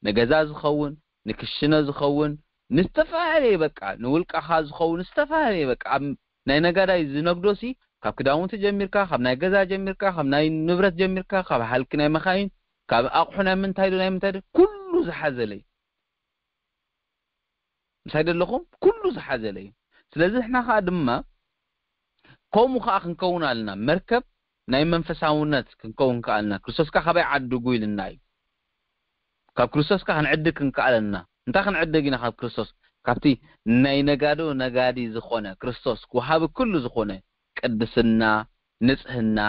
ንገዛ ዝኸውን፣ ንክሽነ ዝኸውን፣ ንዝተፈላለየ በቃ፣ ንውልቃኻ ዝኸውን፣ ዝተፈላለየ በቃ፣ ኣብ ናይ ነጋዳይ ዝነግዶ ሲ፣ ካብ ክዳውንቲ ጀሚርካ፣ ካብ ናይ ገዛ ጀሚርካ፣ ካብ ናይ ንብረት ጀሚርካ፣ ካብ ሃልኪ ናይ መኻይን፣ ካብ ኣቑሑ ናይ ምንታይ ዶ፣ ናይ ምንታይ ዶ፣ ኩሉ ዝሓዘለ እዩ። ምሳይ ደለኹም? ኩሉ ዝሓዘለ እዩ። ስለዚ ንሕና ከኣ ድማ ከምኡ ከኣ ክንከውን ኣለና። መርከብ ናይ መንፈሳውነት ክንከውን ከኣልና። ክርስቶስ ከኣ ካበይ ዓድጉ ኢልና እዩ። ካብ ክርስቶስ ከኣ ክንዕድግ ክንከኣለና። እንታይ ክንዕድግ ኢና ካብ ክርስቶስ? ካብቲ ናይ ነጋዶ ነጋዲ ዝኾነ ክርስቶስ፣ ወሃቢ ኩሉ ዝኾነ ቅድስና፣ ንጽህና፣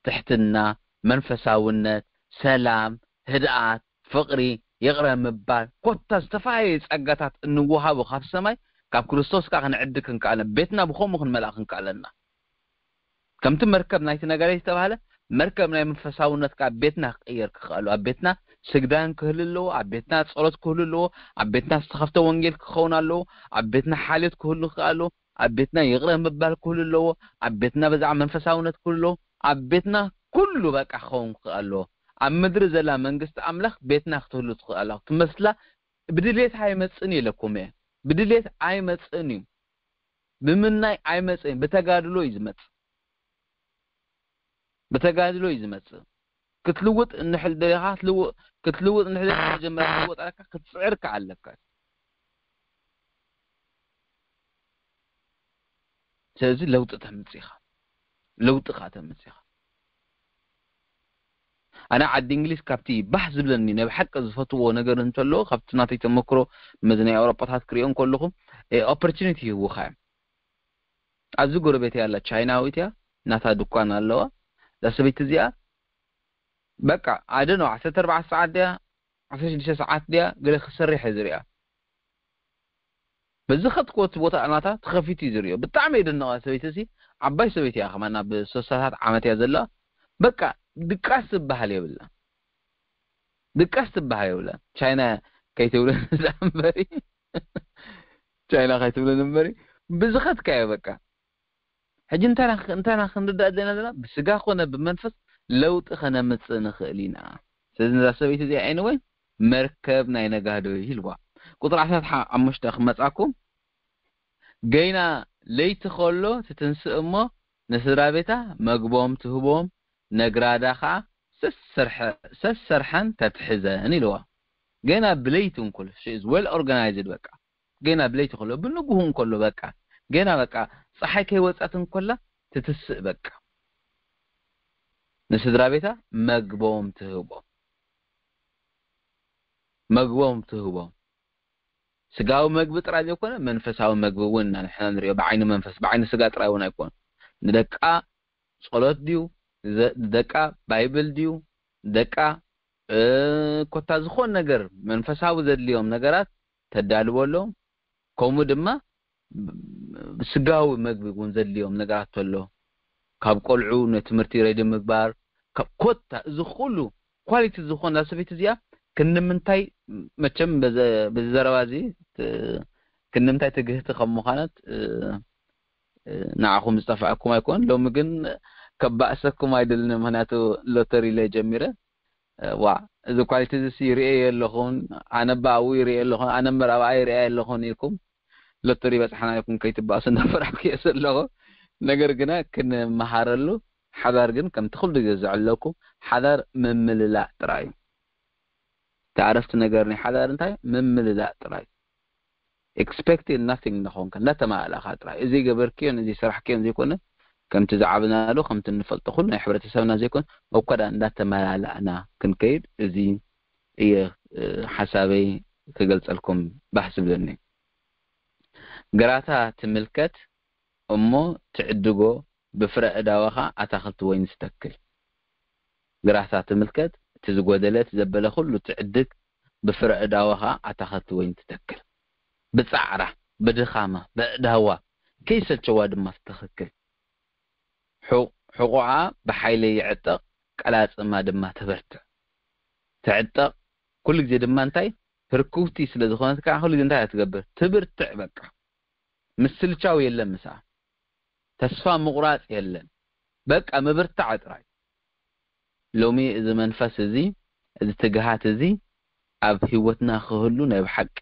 ትሕትና፣ መንፈሳውነት፣ ሰላም፣ ህድኣት፣ ፍቕሪ፣ ይቕረ ምባል፣ ኮታ ዝተፈላለየ ጸጋታት እንወሃቦ ካብ ሰማይ፣ ካብ ክርስቶስ ከኣ ክንዕድግ ክንከኣለ፣ ቤትና ብኸምኡ ክንመልኣ ክንከኣለና። ከምቲ መርከብ ናይቲ ነጋዳይ ዝተባህለ፣ መርከብ ናይ መንፈሳውነት ከኣ ቤትና ክቕየር ክኽእል ኣለዎ። ኣብ ቤትና ስግዳን ክህሉ ኣለዎ፣ ኣብ ቤትና ጸሎት ክህሉ ኣለዎ፣ ኣብ ቤትና ዝተኸፍተ ወንጌል ክኸውን ኣለዎ፣ ኣብ ቤትና ሓልዮት ክህሉ ክኽእል ኣለዎ። ኣብ ቤትና ይቕረ ምባል ክህሉ ኣለዎ። ኣብ ቤትና ብዛዕባ መንፈሳውነት ክህሉ ኣለዎ። ኣብ ቤትና ኩሉ በቃ ክኸውን ክኽእል ኣለዎ። ኣብ ምድሪ ዘላ መንግስቲ ኣምላኽ ቤትና ክትህሉ ትኽእል ኣለዋ። ክትመስላ ብድሌት ኣይመጽእን እዩ ኢለኩም እየ። ብድሌት ኣይመጽእን እዩ። ብምናይ ኣይመጽእን፣ ብተጋድሎ እዩ ዝመጽእ። ብተጋድሎ እዩ ዝመጽእ። ክትልውጥ እንድሕር ደሊኻ ክትልውጥ ክትልውጥ እንድሕር ደሊኻ መጀመርያ ክትልወጥ ኣለካ፣ ክትጽዕር ከኣ ኣለካ። ስለዚ ለውጢ ተምጽእ ኢኻ። ለውጢ ከኣ ተምጽእ ኢኻ። ኣነ ዓዲ እንግሊዝ ካብቲ ባህ ዝብለኒ ናይ ብሓቂ ዝፈትዎ ነገር እንተሎ ካብቲ ናተይ ተመክሮ መዚ ናይ ኣውሮጳታት ክሪኦ እንከለኹ ኦፖርቹኒቲ ይህቡኻ እዮም። ኣብዚ ጎረቤት ያላ ቻይናዊት እያ፣ ናታ ድኳን ኣለዋ። እዛ ሰበይቲ እዚኣ በቃ ኣደኖ ዓሰርተ ኣርባዕተ ሰዓት ድያ ዓሰርተ ሽዱሽተ ሰዓት ድያ ገለ ክሰርሕ እየ ዝሪኣ። በዚ ኸትኮት ቦታ ናታ ተኸፊቱ እዩ ዝሪኦ። ብጣዕሚ የደንቓ ሰበይቲ እሲ። ዓባይ ሰበይቲ እያ ከማን ኣብ ሶስታታት ዓመት እያ ዘለዋ። በቃ ድቃስ ዝበሃል የብላ። ድቃስ ዝበሃል የብላ። ቻይና ከይትብሉ እምበሪ ቻይና ከይትብሉ እምበሪ ብዝኸትካዮ በቃ ሕጂ እንታና እንታና ክንርዳእ ዘለና ዘለና ብስጋ ኮነ ብመንፈስ ለውጢ ከነምጽእ ንኽእል ኢና። ስለዚ ነዛ ሰበይቲ እዚኣ ኤንወይ መርከብ ናይ ነጋዶ ኢልዋ። ቁጥሪ ዓሰርተ ሓሙሽተ ክመጻኩም ገይና ለይቲ ከሎ ትትንስእ እሞ ንስድራ ቤታ መግቦም ትህቦም ነግራዳ ከዓ ሰሰርሐን ተትሕዘን ኢልዋ። ገና ብለይቲ እንኮሎ she is well organized በቃ ገና ብለይቲ ከሎ ብንጉሁ እንከሎ በቃ ገና በቃ ፀሓይ ከይወፀት እንኮላ ትትስእ በቃ ንስድራ ቤታ መግቦም ትህቦም መግቦም ትህቦም ስጋዊ መግቢ ጥራይ ዘይኮነ መንፈሳዊ መግቢ እውን ንሕና ንሪኦ ብዓይኒ መንፈስ ብዓይኒ ስጋ ጥራይ እውን ኣይኮነ ንደቃ ጸሎት ድዩ ንደቃ ባይብል ድዩ ንደቃ ኮታ ዝኾን ነገር መንፈሳዊ ዘድልዮም ነገራት ተዳልወሎም ከምኡ ድማ ስጋዊ መግቢ እውን ዘድልዮም ነገራት ተሎ ካብ ቆልዑ ንትምህርቲ ሬዲ ምግባር ኮታ እዚ ኩሉ ኳሊቲ ዝኾን እዛ ሰበይቲ እዚኣ ክንምንታይ መቸም በዚ ዘረባ እዚ ክንምንታይ ትግህቲ ከም ምዃነት ንዓኹም ዝጠፍዐኩም ኣይኮን ሎሚ ግን ከባእሰኩም ኣይደልን ምክንያቱ ሎተሪ ኢለ ጀሚረ ዋ እዚ ኳሊቲ እዚ ይርኤ የለኹን ኣነ ባኡ ይርኤ የለኹን ኣነ መራብኣ ይርኤ የለኹን ኢልኩም ሎተሪ በፅሓና ኢልኩም ከይትባእሱ እንዳፈራሕኩ እየ ዘለኹ ነገር ግና ክንመሃረሉ ሓዳር ግን ከምቲ ኩሉ ግዜ ዝዕለኩም ሓዳር ምምልላእ ጥራይ እዩ ተኣረፍቲ ነገር ናይ ሓዳር እንታይ ምምልላእ ጥራይ expected nothing ንኾንካ እንዳተማላለእካ ጥራይ እዚ ገበርክዮን እዚ ስራሕክዮን ዘይኮነ ከምቲ ዝዓብናሉ ከምቲ እንፈልጦ ኩሉ ናይ ሕብረተሰብና ዘይኮነ እኳ ዳ እንዳተመላለእና ክንከይድ እዚ እየ ሓሳበይ ክገልጸልኩም ባህ ዝብለኒ ግራታ ትምልከት እሞ ትዕድጎ ብፍረ እዳወኻ ኣታኽልቲ ወይኒ ትተክል ግራታ ትምልከት እቲ ዝጎደለ እቲ ዘበለ ኩሉ ትዕድግ ብፍረ እዳወኻ ኣታኸቲ ወይን ትተክል። ብጻዕራ፣ ብድኻማ፣ በእዳዋ ከይሰልቸዋ ድማ ትተኽክል። ሕቑዓ ብሓይሊ ይዕጠቕ፣ ቀላጽማ ድማ ትበርትዕ። ትዕጠቕ፣ ኩሉ ግዜ ድማ እንታይ ህርኩብቲ ስለ ዝኾነት ከዓ ኩሉ ግዜ እንታይ እያ ትገብር? ትብርትዕ በቃ። ምስልቻው የለን ምስኣ። ተስፋ ምቑራጽ የለን። በቃ ምብርታዕ ጥራይ። ሎሚ እዚ መንፈስ እዚ እዚ ትግሃት እዚ ኣብ ህይወትና ክህሉ ናይ ብሓቂ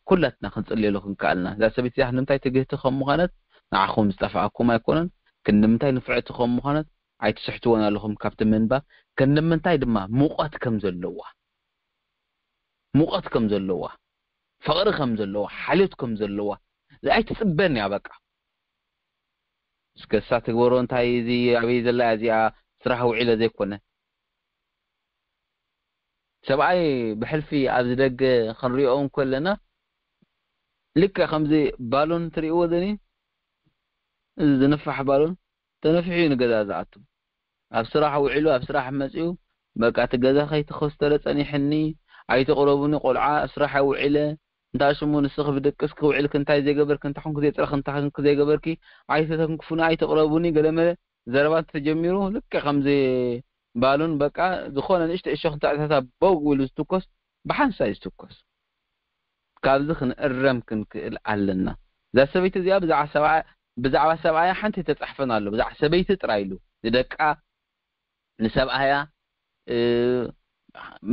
ኩላትና ክንጽልየሉ ክንከኣልና እዛ ሰበይቲ እዚኣ ንምንታይ ትግህቲ ከም ምዃነት ንዓኹም ዝጠፍኣኩም ኣይኮነን ክንዲ ምንታይ ንፍዕቲ ከም ምዃነት ኣይትስሕትዎን ኣለኹም ካብቲ ምንባብ ክንዲ ምንታይ ድማ ሙቐት ከም ዘለዋ ሙቐት ከም ዘለዋ ፍቕሪ ከም ዘለዋ ሓልዮት ከም ዘለዋ ኣይትጽበን እያ በቃ እስከ እሳ ትግበሮ እንታይ እዚ ኣበይ ዘላ እያ እዚኣ ስራሕ ውዒለ ዘይኮነ ሰብኣይ ብሕልፊ ኣብዚ ደገ ክንሪኦ እንከለና ልክዕ ከምዚ ባሎን ትርእይዎ ዘኒ እዚ ዝንፋሕ ባሎን ተነፊሑ እዩ ንገዛ ዝኣቱ ኣብ ስራሕ ውዒሉ ኣብ ስራሕ መፂኡ በቃ እቲ ገዛ ከይተኸስተረ ፀኒሕኒ ኣይተቕረቡኒ ቆልዓ ኣብ ስራሕ ውዒለ እንታ ሽሙ ንስኺ ብድቅስኪ ውዒልኪ እንታይ ዘይገበርኪ እንታይ ኮንኪ ዘይፅረኺ እንታይ ኮንኪ ዘይገበርኪ ኣይተተንክፉኒ ኣይተቕረቡኒ ገለመለ ዘረባ እንተተጀሚሩ ልክዕ ከምዚ ባሉን በቃ ዝኾነ ንእሽተ እሾኽ እንተኣትያታ በው ኢሉ ዝትኮስ ብሓንሳእ እዩ ዝትኮስ። ካብዚ ክንእረም ክንክእል ኣለና። እዛ ሰበይቲ እዚኣ ብዛዕባ ሰብኣያ ሓንቲ ተጻሕፈን ኣሎ። ብዛዕባ ሰበይቲ ጥራይ ኢሉ፣ ንደቃ፣ ንሰብኣያ፣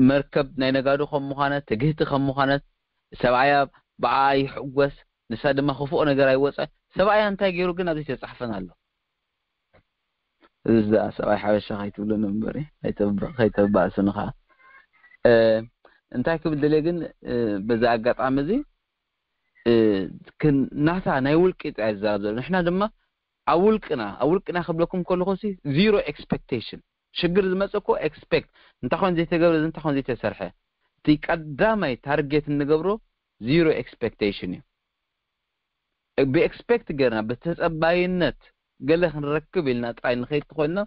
መርከብ ናይ ነጋዶ ከም ምዃነት፣ ትግህቲ ከም ምዃነት፣ ሰብኣያ ብኣ ይሕጎስ፣ ንሳ ድማ ክፉእ ነገር ኣይወጸ። ሰብኣያ እንታይ ገይሩ ግን ኣብዚ ተጻሕፈን ኣሎ። እዚ ደኣ ሰብኣይ ሓበሻ ከይትብሉ እምበሪ፣ ከይተባእስንኻ። እንታይ ክብል ደልየ ግን፣ በዚ ኣጋጣሚ እዚ፣ ናታ ናይ ውልቂ ጥራይ ዝዛረብ ዘሎ። ንሕና ድማ ኣብ ውልቅና፣ ኣብ ውልቅና ክብለኩም ከለኹ ሲ፣ ዚሮ ኤክስፔክቴሽን። ሽግር ዝመጽእ እኮ ኤክስፔክት፣ እንታይ ኮን ዘይተገብረ፣ እንታይ ኮን ዘይተሰርሐ። እቲ ቀዳማይ ታርጌት እንገብሮ ዚሮ ኤክስፔክቴሽን እዩ። ብኤክስፔክት ገርና፣ ብተጸባይነት ገለ ክንረክብ ኢልና ጥራይ ንኸይድ ተኾይንና፣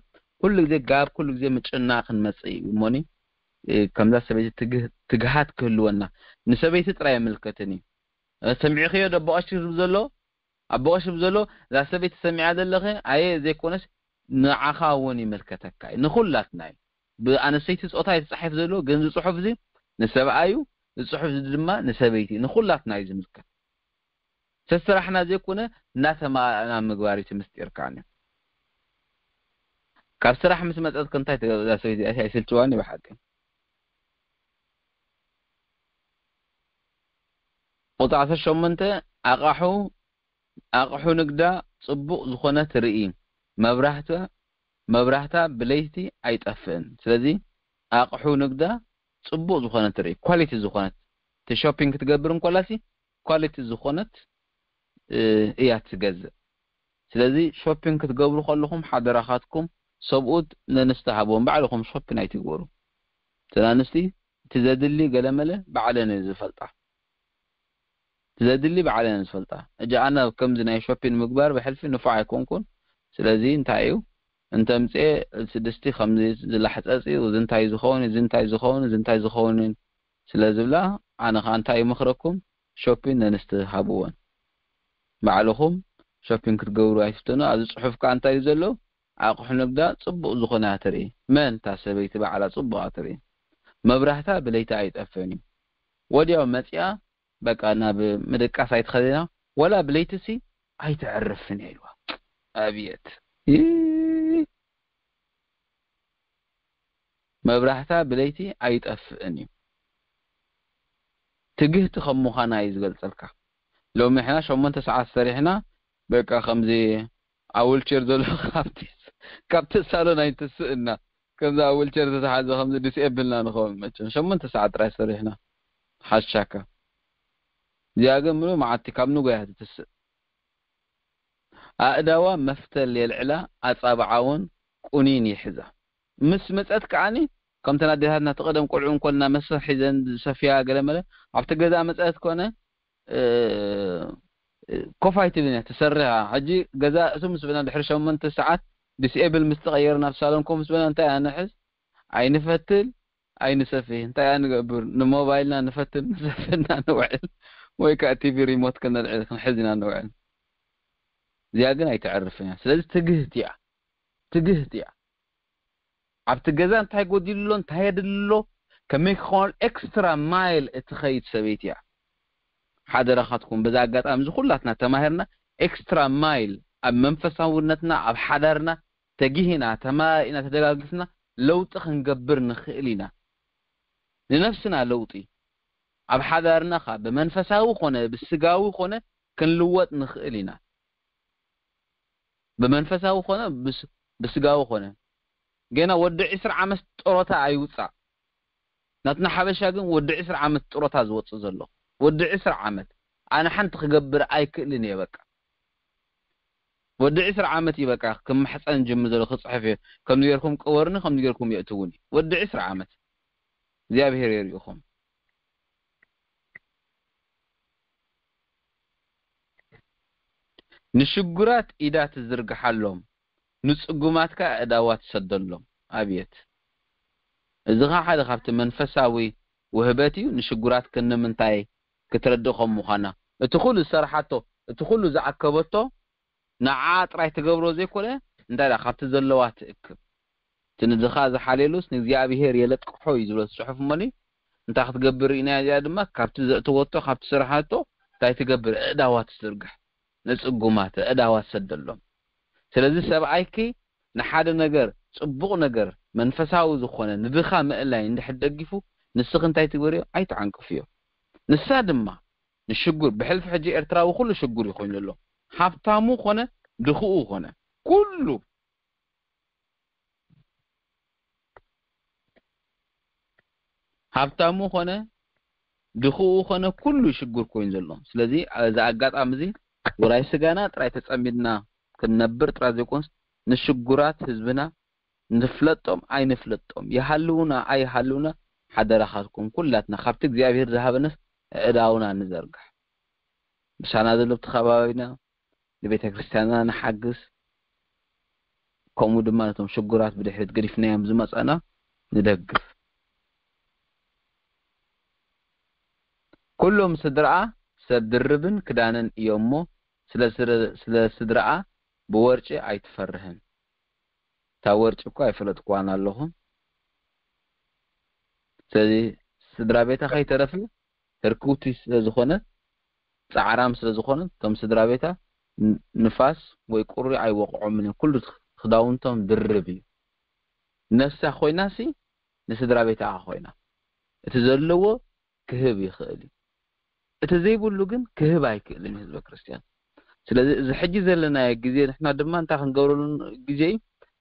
ኩሉ ግዜ ጋብ ኩሉ ግዜ ምጭና ክንመጽእ እዩ። እሞኒ፣ ከምዛ ሰበይቲ ትግሃት ክህልወና። ንሰበይቲ ጥራይ የምልከትን እዩ። ሰሚዕኽዮ ደቦቐሽ ዝብል ዘሎ? ኣቦቐሽ ዝብል ዘሎ፣ እዛ ሰበይቲ ሰሚዓ ዘለኸ? ኣየ ዘይኮነስ ንዓኻ እውን ይምልከተካ እዩ። ንኹላትና እዩ። ብኣነስተይቲ ጾታ እዩ ተጻሒፍ ዘሎ፣ ግን እዚ ጽሑፍ እዚ ንሰብኣዩ፣ እዚ ጽሑፍ እዚ ድማ ንሰበይቲ፣ ንኹላትና እዩ ዝምልከት። ሰስራሕና ዘይኮነ እናተማእና ምግባር እዩ እቲ ምስጢር ከዓኒ። ካብ ስራሕ ምስ መጸት ክንታይ ትገብዛ ሰበይቲ እዚኣ ኣይስልችዋን እዩ ብሓቂ። ቁጽሪ ዓሰርተ ሸሞንተ ኣቕሑ ኣቕሑ ንግዳ ጽቡቕ ዝኾነ ትርኢ። መብራህታ መብራህታ ብለይቲ ኣይጠፍእን። ስለዚ ኣቕሑ ንግዳ ጽቡቕ ዝኾነ ትርኢ፣ ኳሊቲ ዝኾነት፣ እቲ ሾፒንግ ክትገብር እንኮላሲ ኳሊቲ ዝኾነት እያ ትገዝእ። ስለዚ ሾፒንግ ክትገብሩ ከለኹም ሓደራኻትኩም ሰብኡት ነንስቲ ሃብዎም፣ ባዕልኹም ሾፒን ኣይትግበሩ። እተን ኣንስቲ እቲ ዘድሊ ገለመለ ባዕለን እየ ዝፈልጣ። እቲ ዘድሊ ባዕለን እየ ዝፈልጣ። እጂ ኣነ ከምዚ ናይ ሾፒን ምግባር ብሕልፊ ንፉዕ ኣይኮንኩን። ስለዚ እንታይ እዩ እንተምፅኤ ስድስቲ ከምዚ ዝላሕፀፂ እዚ እንታይ ዝኸውን እዚ እንታይ ዝኸውን እዚ እንታይ ዝኸውን ስለ ዝብላ ኣነ ከዓ እንታይ ይመኽረኩም ሾፒን ነንስቲ ሃብወን። ባዕልኹም ሾፒን ክትገብሩ ኣይትፍተኑ። ኣብዚ ፅሑፍ ከዓ እንታይ እዩ ዘሎ? ኣቑሑ ንግዳ ጽቡቕ ዝኾነ እያ ትርኢ። መን? እታ ሰበይቲ ባዕላ ጽቡቕ እያ ትርኢ። መብራህታ ብለይቲ ኣይጠፍእን እዩ። ወዲያው መጺኣ በቃ ናብ ምድቃስ ኣይትኸድና ወላ ብለይትሲ ኣይተዕርፍን እያ ኢልዋ። ኣብየት! ይይ! መብራህታ ብለይቲ ኣይጠፍእን እዩ። ትግህቲ ከም ምዃና እዩ ዝገልጸልካ። ሎሚ ንሕና ሸሞንተ ሰዓት ሰሪሕና በቃ ከምዚ ኣብ ዊልቸር ዘሎ ካብቲ ካብቲ ሳሎን ኣይትስእና። ከምዚ ኣብ ዊልቸር ዝተሓዘ ከምዚ ዲስኤብል ኢና ንኸውን መቸም። ሸሞንተ ሰዓት ጥራይ ሰሪሕና ሓሻካ። እዚኣ ግን ምሉእ መዓልቲ ካብ ንጎያ ትትስእ። ኣእዳዋ መፍተል የልዕላ፣ ኣጻብዓ እውን ቁኒን ይሕዛ። ምስ መጸት ከዓኒ ከምተን ኣዴታትና እቲ ቀደም ቆልዑ እንኮልና መስርሕ ሒዘን ዝሰፍያ ገለ መለ ኣብቲ ገዛ መጸት ኮነ ኮፍ ኣይትብልን እያ ትሰርሕ። ሕጂ ገዛ እሱ ምስ በና ድሕሪ ሸሞንተ ሰዓት ዲስኤብል ምስ ተቐየረ ናብ ሳሎን ኮፍ ምስ በና እንታይ ኣንሕዝ ኣይንፈትል ኣይንሰፊ እንታይ ኣንገብር ንሞባይልና ንፈትል ንሰፍና ንውዕል ወይ ከዓ ቲቪ ሪሞት ክንልዕል ክንሕዝ ኢና ንውዕል። እዚኣ ግን ኣይተዕርፍን እያ። ስለዚ ትግህት እያ ትግህት እያ። ኣብቲ ገዛ እንታይ ጎዲሉ ኣሎ እንታይ የድሊ ኣሎ ከመይ ክኸውን ኤክስትራ ማይል እትኸይድ ሰበይቲ እያ። ሓደራኻትኩም በዛ ኣጋጣሚ እዚ ኩላትና ተማሂርና ኤክስትራ ማይል ኣብ መንፈሳውነትና ኣብ ሓዳርና ተጊህና ተማኢና ተደጋጊፍና ለውጢ ክንገብር ንኽእል ኢና። ንነፍስና ለውጢ ኣብ ሓዳርና ኻ ብመንፈሳዊ ኮነ ብስጋዊ ኮነ ክንልወጥ ንኽእል ኢና። ብመንፈሳዊ ኮነ ብስጋዊ ኮነ ገና ወዲ ዕስራ ዓመት ጦሮታ ኣይውፃእ። ናትና ሓበሻ ግን ወዲ ዕስራ ዓመት ጦሮታ ዝወፅእ ዘሎ ወዲ ዕስራ ዓመት ኣነ ሓንቲ ክገብር ኣይክእልን እየ በቃ ወዲ ዕስራ ዓመት እዩ በቃ ክምሕፀን ጅምር ዘሎ ክፅሕፍ እዩ። ከምዚ ገርኩም ቅበሩኒ ከምዚ ገርኩም የእትውኒ ወዲ ዕስራ ዓመት እግዚኣብሔር የርእኹም። ንሽጉራት ኢዳ ትዝርግሓሎም፣ ንጽጉማት ከኣ ኣእዳዋ ትሰደሎም። ኣብየት! እዚ ኸኣ ሓደ ካብቲ መንፈሳዊ ውህበት እዩ። ንሽጉራት ክንምንታይ ክትረድእ ከም ምዃና፣ እቲ ኹሉ ዝሰርሓቶ፣ እቲ ኹሉ ዝኣከበቶ፣ ንዓኣ ጥራይ ትገብሮ ዘይኮነ፣ እንታይ ደኣ ካብቲ ዘለዋ ትእክብ። እቲ ንድኻ ዝሓልየሉስ ንእግዚኣብሄር የለቅሖ እዩ ዝብሎ እቲ ጽሑፍ እሞኒ፣ እንታይ ክትገብር ርኢናያ እዚኣ ድማ ካብቲ ዘእተወቶ ካብቲ ዝሰርሓቶ እንታይ ትገብር ኣእዳዋ ትዝርግሕ። ንጽጉማት ኣእዳዋ ትሰደሎም። ስለዚ ሰብኣይኪ ንሓደ ነገር፣ ጽቡቕ ነገር፣ መንፈሳዊ ዝኾነ ንድኻ ምእላይ እንድሕር ደጊፉ፣ ንስኺ እንታይ ትግበርዮ? ኣይትዓንቅፍዮ። ንሳ ድማ ንሽጉር፣ ብሕልፊ ሕጂ ኤርትራዊ ኩሉ ሽጉር እዩ ኮይኑ ዘሎ። ሃብታሙ ኾነ ድኽኡ ኾነ ኩሉ ሃብታሙ ኾነ ድኽኡ ኾነ ኩሉ ሽጉር ኮይኑ ዘሎ። ስለዚ እዚ ኣጋጣሚ እዚ ውራይ ስጋና ጥራይ ተጸሚድና ክንነብር ጥራይ ዘይኮንስ ንሽጉራት ህዝብና ንፍለጦም ኣይንፍለጦም፣ ይሃልውና ኣይሃልውና፣ ሓደራኻትኩም ኩላትና ካብቲ እግዚኣብሔር ዝሃበነስ ኣእዳውና ንዘርግሕ። ምሳና ዘሎ ኣብቲ ከባቢና ንቤተ ክርስቲያንና ንሓግዝ፣ ከምኡ ድማ ነቶም ሽጉራት ብድሕሪት ገዲፍናዮም ዝመጻና ንደግፍ። ኩሎም ስድራኣ ሰብ ድርብን ክዳንን እዮም እሞ፣ ስለ ስረ-፣ ስለ ስድራኣ ብወርጪ ኣይትፈርህን። እታ ወርጪ እኮ ኣይፈለጥኩዋን ኣለኹ። ስለዚ ስድራ ቤታ ከይተረፈ ህርክውቲ ስለ ዝኾነት፣ ጻዕራም ስለ ዝኾነት፣ እቶም ስድራ ቤታ ን-፣ ንፋስ ወይ ቁሪ ኣይወቕዖምን እዮም። ኩሉ ክዳውንቶም ድርብ እዩ። ነፍሳ ኮይናሲ ንስድራ ቤታ ኮይና። እቲ ዘለዎ ክህብ ይኽእል እዩ። እቲ ዘይብሉ ግን ክህብ ኣይክእልን እዩ ህዝበ ክርስቲያን። ስለዚ እዚ ሕጂ ዘለናዮ ግዜ ንሕና ድማ እንታይ ክንገብረሉ ግዜ እዩ?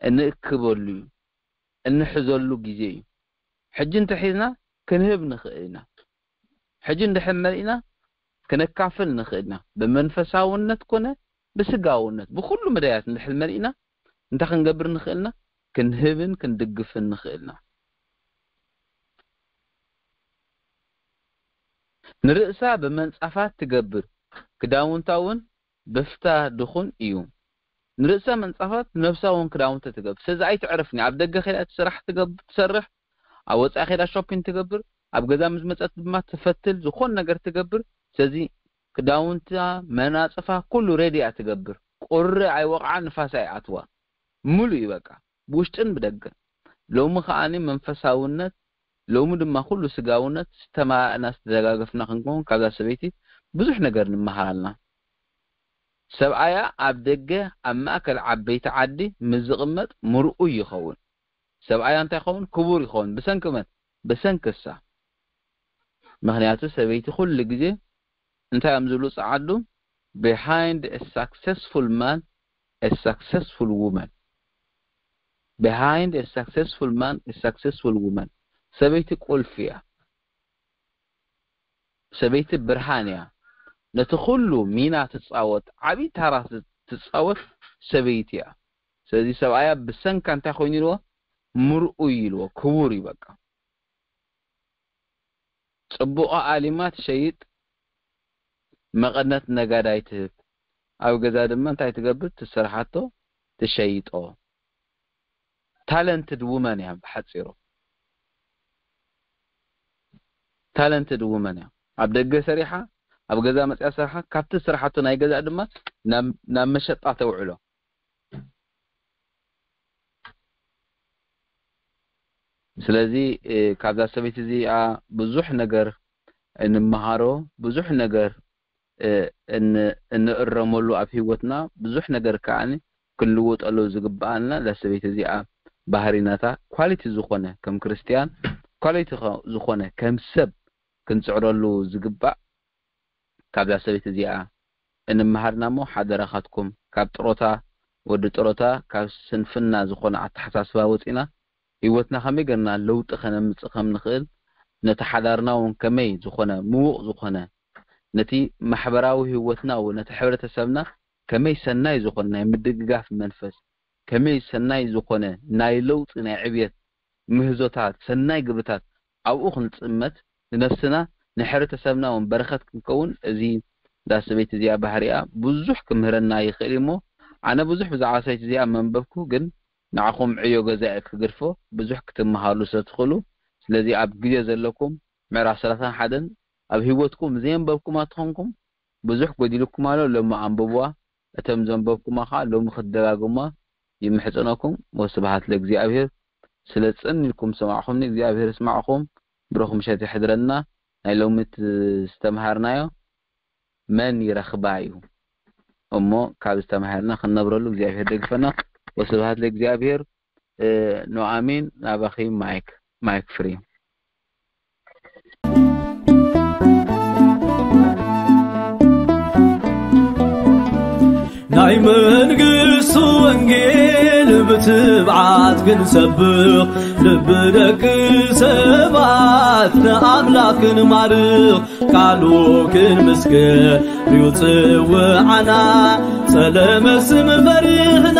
እንእክበሉ እዩ። እንሕዘሉ ግዜ እዩ። ሕጂ እንተሒዝና ክንህብ ንኽእል ኢና። ሕጂ እንድሕር መሊእና ክነካፍል ንኽእል ኢና። ብመንፈሳውነት ኮነ ብስጋውነት፣ ብኹሉ መዳያት እንድሕር መሊእና እንታይ ክንገብር ንኽእል ኢና? ክንህብን ክንድግፍን ንኽእል ኢና። ንርእሳ ብመንጻፋት ትገብር፣ ክዳውንታ እውን በፍታ ድኹን እዩ። ንርእሳ መንጻፋት፣ ንነብሳ እውን ክዳውንቲ ትገብር። ስለዚ ኣይትዕርፍን እያ። ኣብ ደገ ከይዳ እቲ ስራሕ ትገብ-፣ ትሰርሕ፣ ኣብ ወጻኢ ከይዳ ሾፒንግ ትገብር፣ ኣብ ገዛ ምስ መጸት ድማ ትፈትል፣ ዝኾን ነገር ትገብር። ስለዚ ክዳውንታ፣ መናጽፋ፣ ኩሉ ሬዲ እያ ትገብር። ቁሪ ኣይወቕዓ፣ ንፋስ ኣይኣትዋ። ሙሉ እዩ በቃ፣ ብውሽጥን ብደገን። ሎሚ ከኣኒ መንፈሳውነት፣ ሎሚ ድማ ኩሉ ስጋውነት ዝተማላእና ዝተደጋገፍና ክንከውን ካብዛ ሰበይቲ ብዙሕ ነገር ንምሃር ኣለና። ሰብኣያ ኣብ ደገ ኣብ ማእከል ዓበይቲ ዓዲ ምስ ዝቕመጥ ምርኡይ ይኸውን። ሰብኣያ እንታይ ይኸውን? ክቡር ይኸውን። ብሰንኪ መን? ብሰንኪ እሳ። ምኽንያቱ ሰበይቲ ኩሉ ግዜ እንታይ እዮም ዝብሉ ጸዓዱ? Behind a successful man, a successful woman. Behind a successful man, a successful woman. ሰበይቲ ቁልፊ እያ። ሰበይቲ ብርሃን እያ። ነቲ ኩሉ ሚና ትጻወት፣ ዓቢ ታራ ት-፣ ትጻወት ሰበይቲ እያ። ስለዚ ሰብኣያ ብሰንካ እንታይ ኮይኑ ኢልዎ? ምርኡይ ኢልዎ፣ ክቡር እዩ በቃ። ጽቡቕ ኣሊማ ትሸይጥ፣ መቐነት ነጋዳይ ትህብ። ኣብ ገዛ ድማ እንታይ ትገብር? ትሰርሓቶ ትሸይጦ። ታለንትድ ውመን እያ ብሓጺሩ። ታለንትድ ውመን እያ። ኣብ ደገ ሰሪሓ፣ ኣብ ገዛ መጽያ ሰርሓ፣ ካብቲ ዝሰርሓቶ ናይ ገዛ ድማ ናብ፣ ናብ መሸጣ ተውዕሎ። ስለዚ፣ እ፣ ካብዛ ሰበይቲ እዚኣ ብዙሕ ነገር እንመሃሮ፣ ብዙሕ ነገር፣ እ፣ እን-፣ እንእረመሉ ኣብ ህይወትና፣ ብዙሕ ነገር ከኣ ክንልውጠሉ ዝግብኣና እዛ ሰበይቲ እዚኣ ባህሪናታ ኳሊቲ ዝኾነ ከም ክርስትያን ኳሊቲ ኸ-፣ ዝኾነ ከም ሰብ ክንጽዕረሉ ዝግባእ ካብዛ ሰበይቲ እዚኣ እንመሃርና እሞ ሓደራኻትኩም ካብ ጥሮታ ወዲ ጥሮታ ካብ ስንፍና ዝኾነ ኣተሓሳስባ ወጺና ህይወትና ከመይ ጌርና ለውጢ ከነምጽእ ከም ንኽእል ነቲ ሓዳርና እውን ከመይ ዝኾነ ምዉቕ ዝኾነ ነቲ ማሕበራዊ ህይወትና እውን ነቲ ሕብረተሰብና ከመይ ሰናይ ዝኾነ ናይ ምድግጋፍ መንፈስ ከመይ ሰናይ ዝኾነ ናይ ለውጢ ናይ ዕብየት ምህዞታት ሰናይ ግብርታት ኣብኡ ክንጽመት ንነፍስና ንሕብረተሰብና እውን በረኸት ክንከውን እዚ እዛ ሰበይቲ እዚኣ ባህሪኣ ብዙሕ ክምህረና ይኽእል እዩ እሞ ኣነ ብዙሕ ብዛዕባ ሰበይቲ እዚኣ መንበብኩ ግን ንዓኹም ዕዮ ገዛ እየ ክግድፎ ብዙሕ ክትመሃሉ ስለ ትኽእሉ ስለዚ ኣብ ግዜ ዘለኩም ምዕራፍ ሰላሳን ሓደን ኣብ ህይወትኩም ዘየንበብኩማ ተኾንኩም ብዙሕ ጎዲልኩም ኣሎ ሎሚ ኣንብብዋ እቶም ዘንበብኩማ ኸዓ ሎሚ ክትደጋግሙዋ ይምሕጸነኩም ወስብሓት ለእግዚኣብሔር ስለ ጽን ኢልኩም ዝሰማዕኹምኒ እግዚኣብሔር ይስማዕኹም ብሩኽ ምሸት ይሕድረና ናይ ሎሚ ዝተምሃርናዮ መን ይረኽባ እዩ እሞ ካብ ዝተማሃርና ክንነብረሉ እግዚኣብሔር ደግፈና። ወስብሃት ለእግዚኣብሔር። እ፣ ኑኣሚን ናባኺ ማይክ፣ ማይክ ፍሪ። ናይ መንግስቱ ወንጌል ብትብዓት ክንሰብኽ፣ ልቢ ደቂ ሰባት ንኣምላኽ ክንማርኽ፣ ቃሉ ክንምስክር እዩ ጽውዓና። ጸለመ ስም ፈሪህና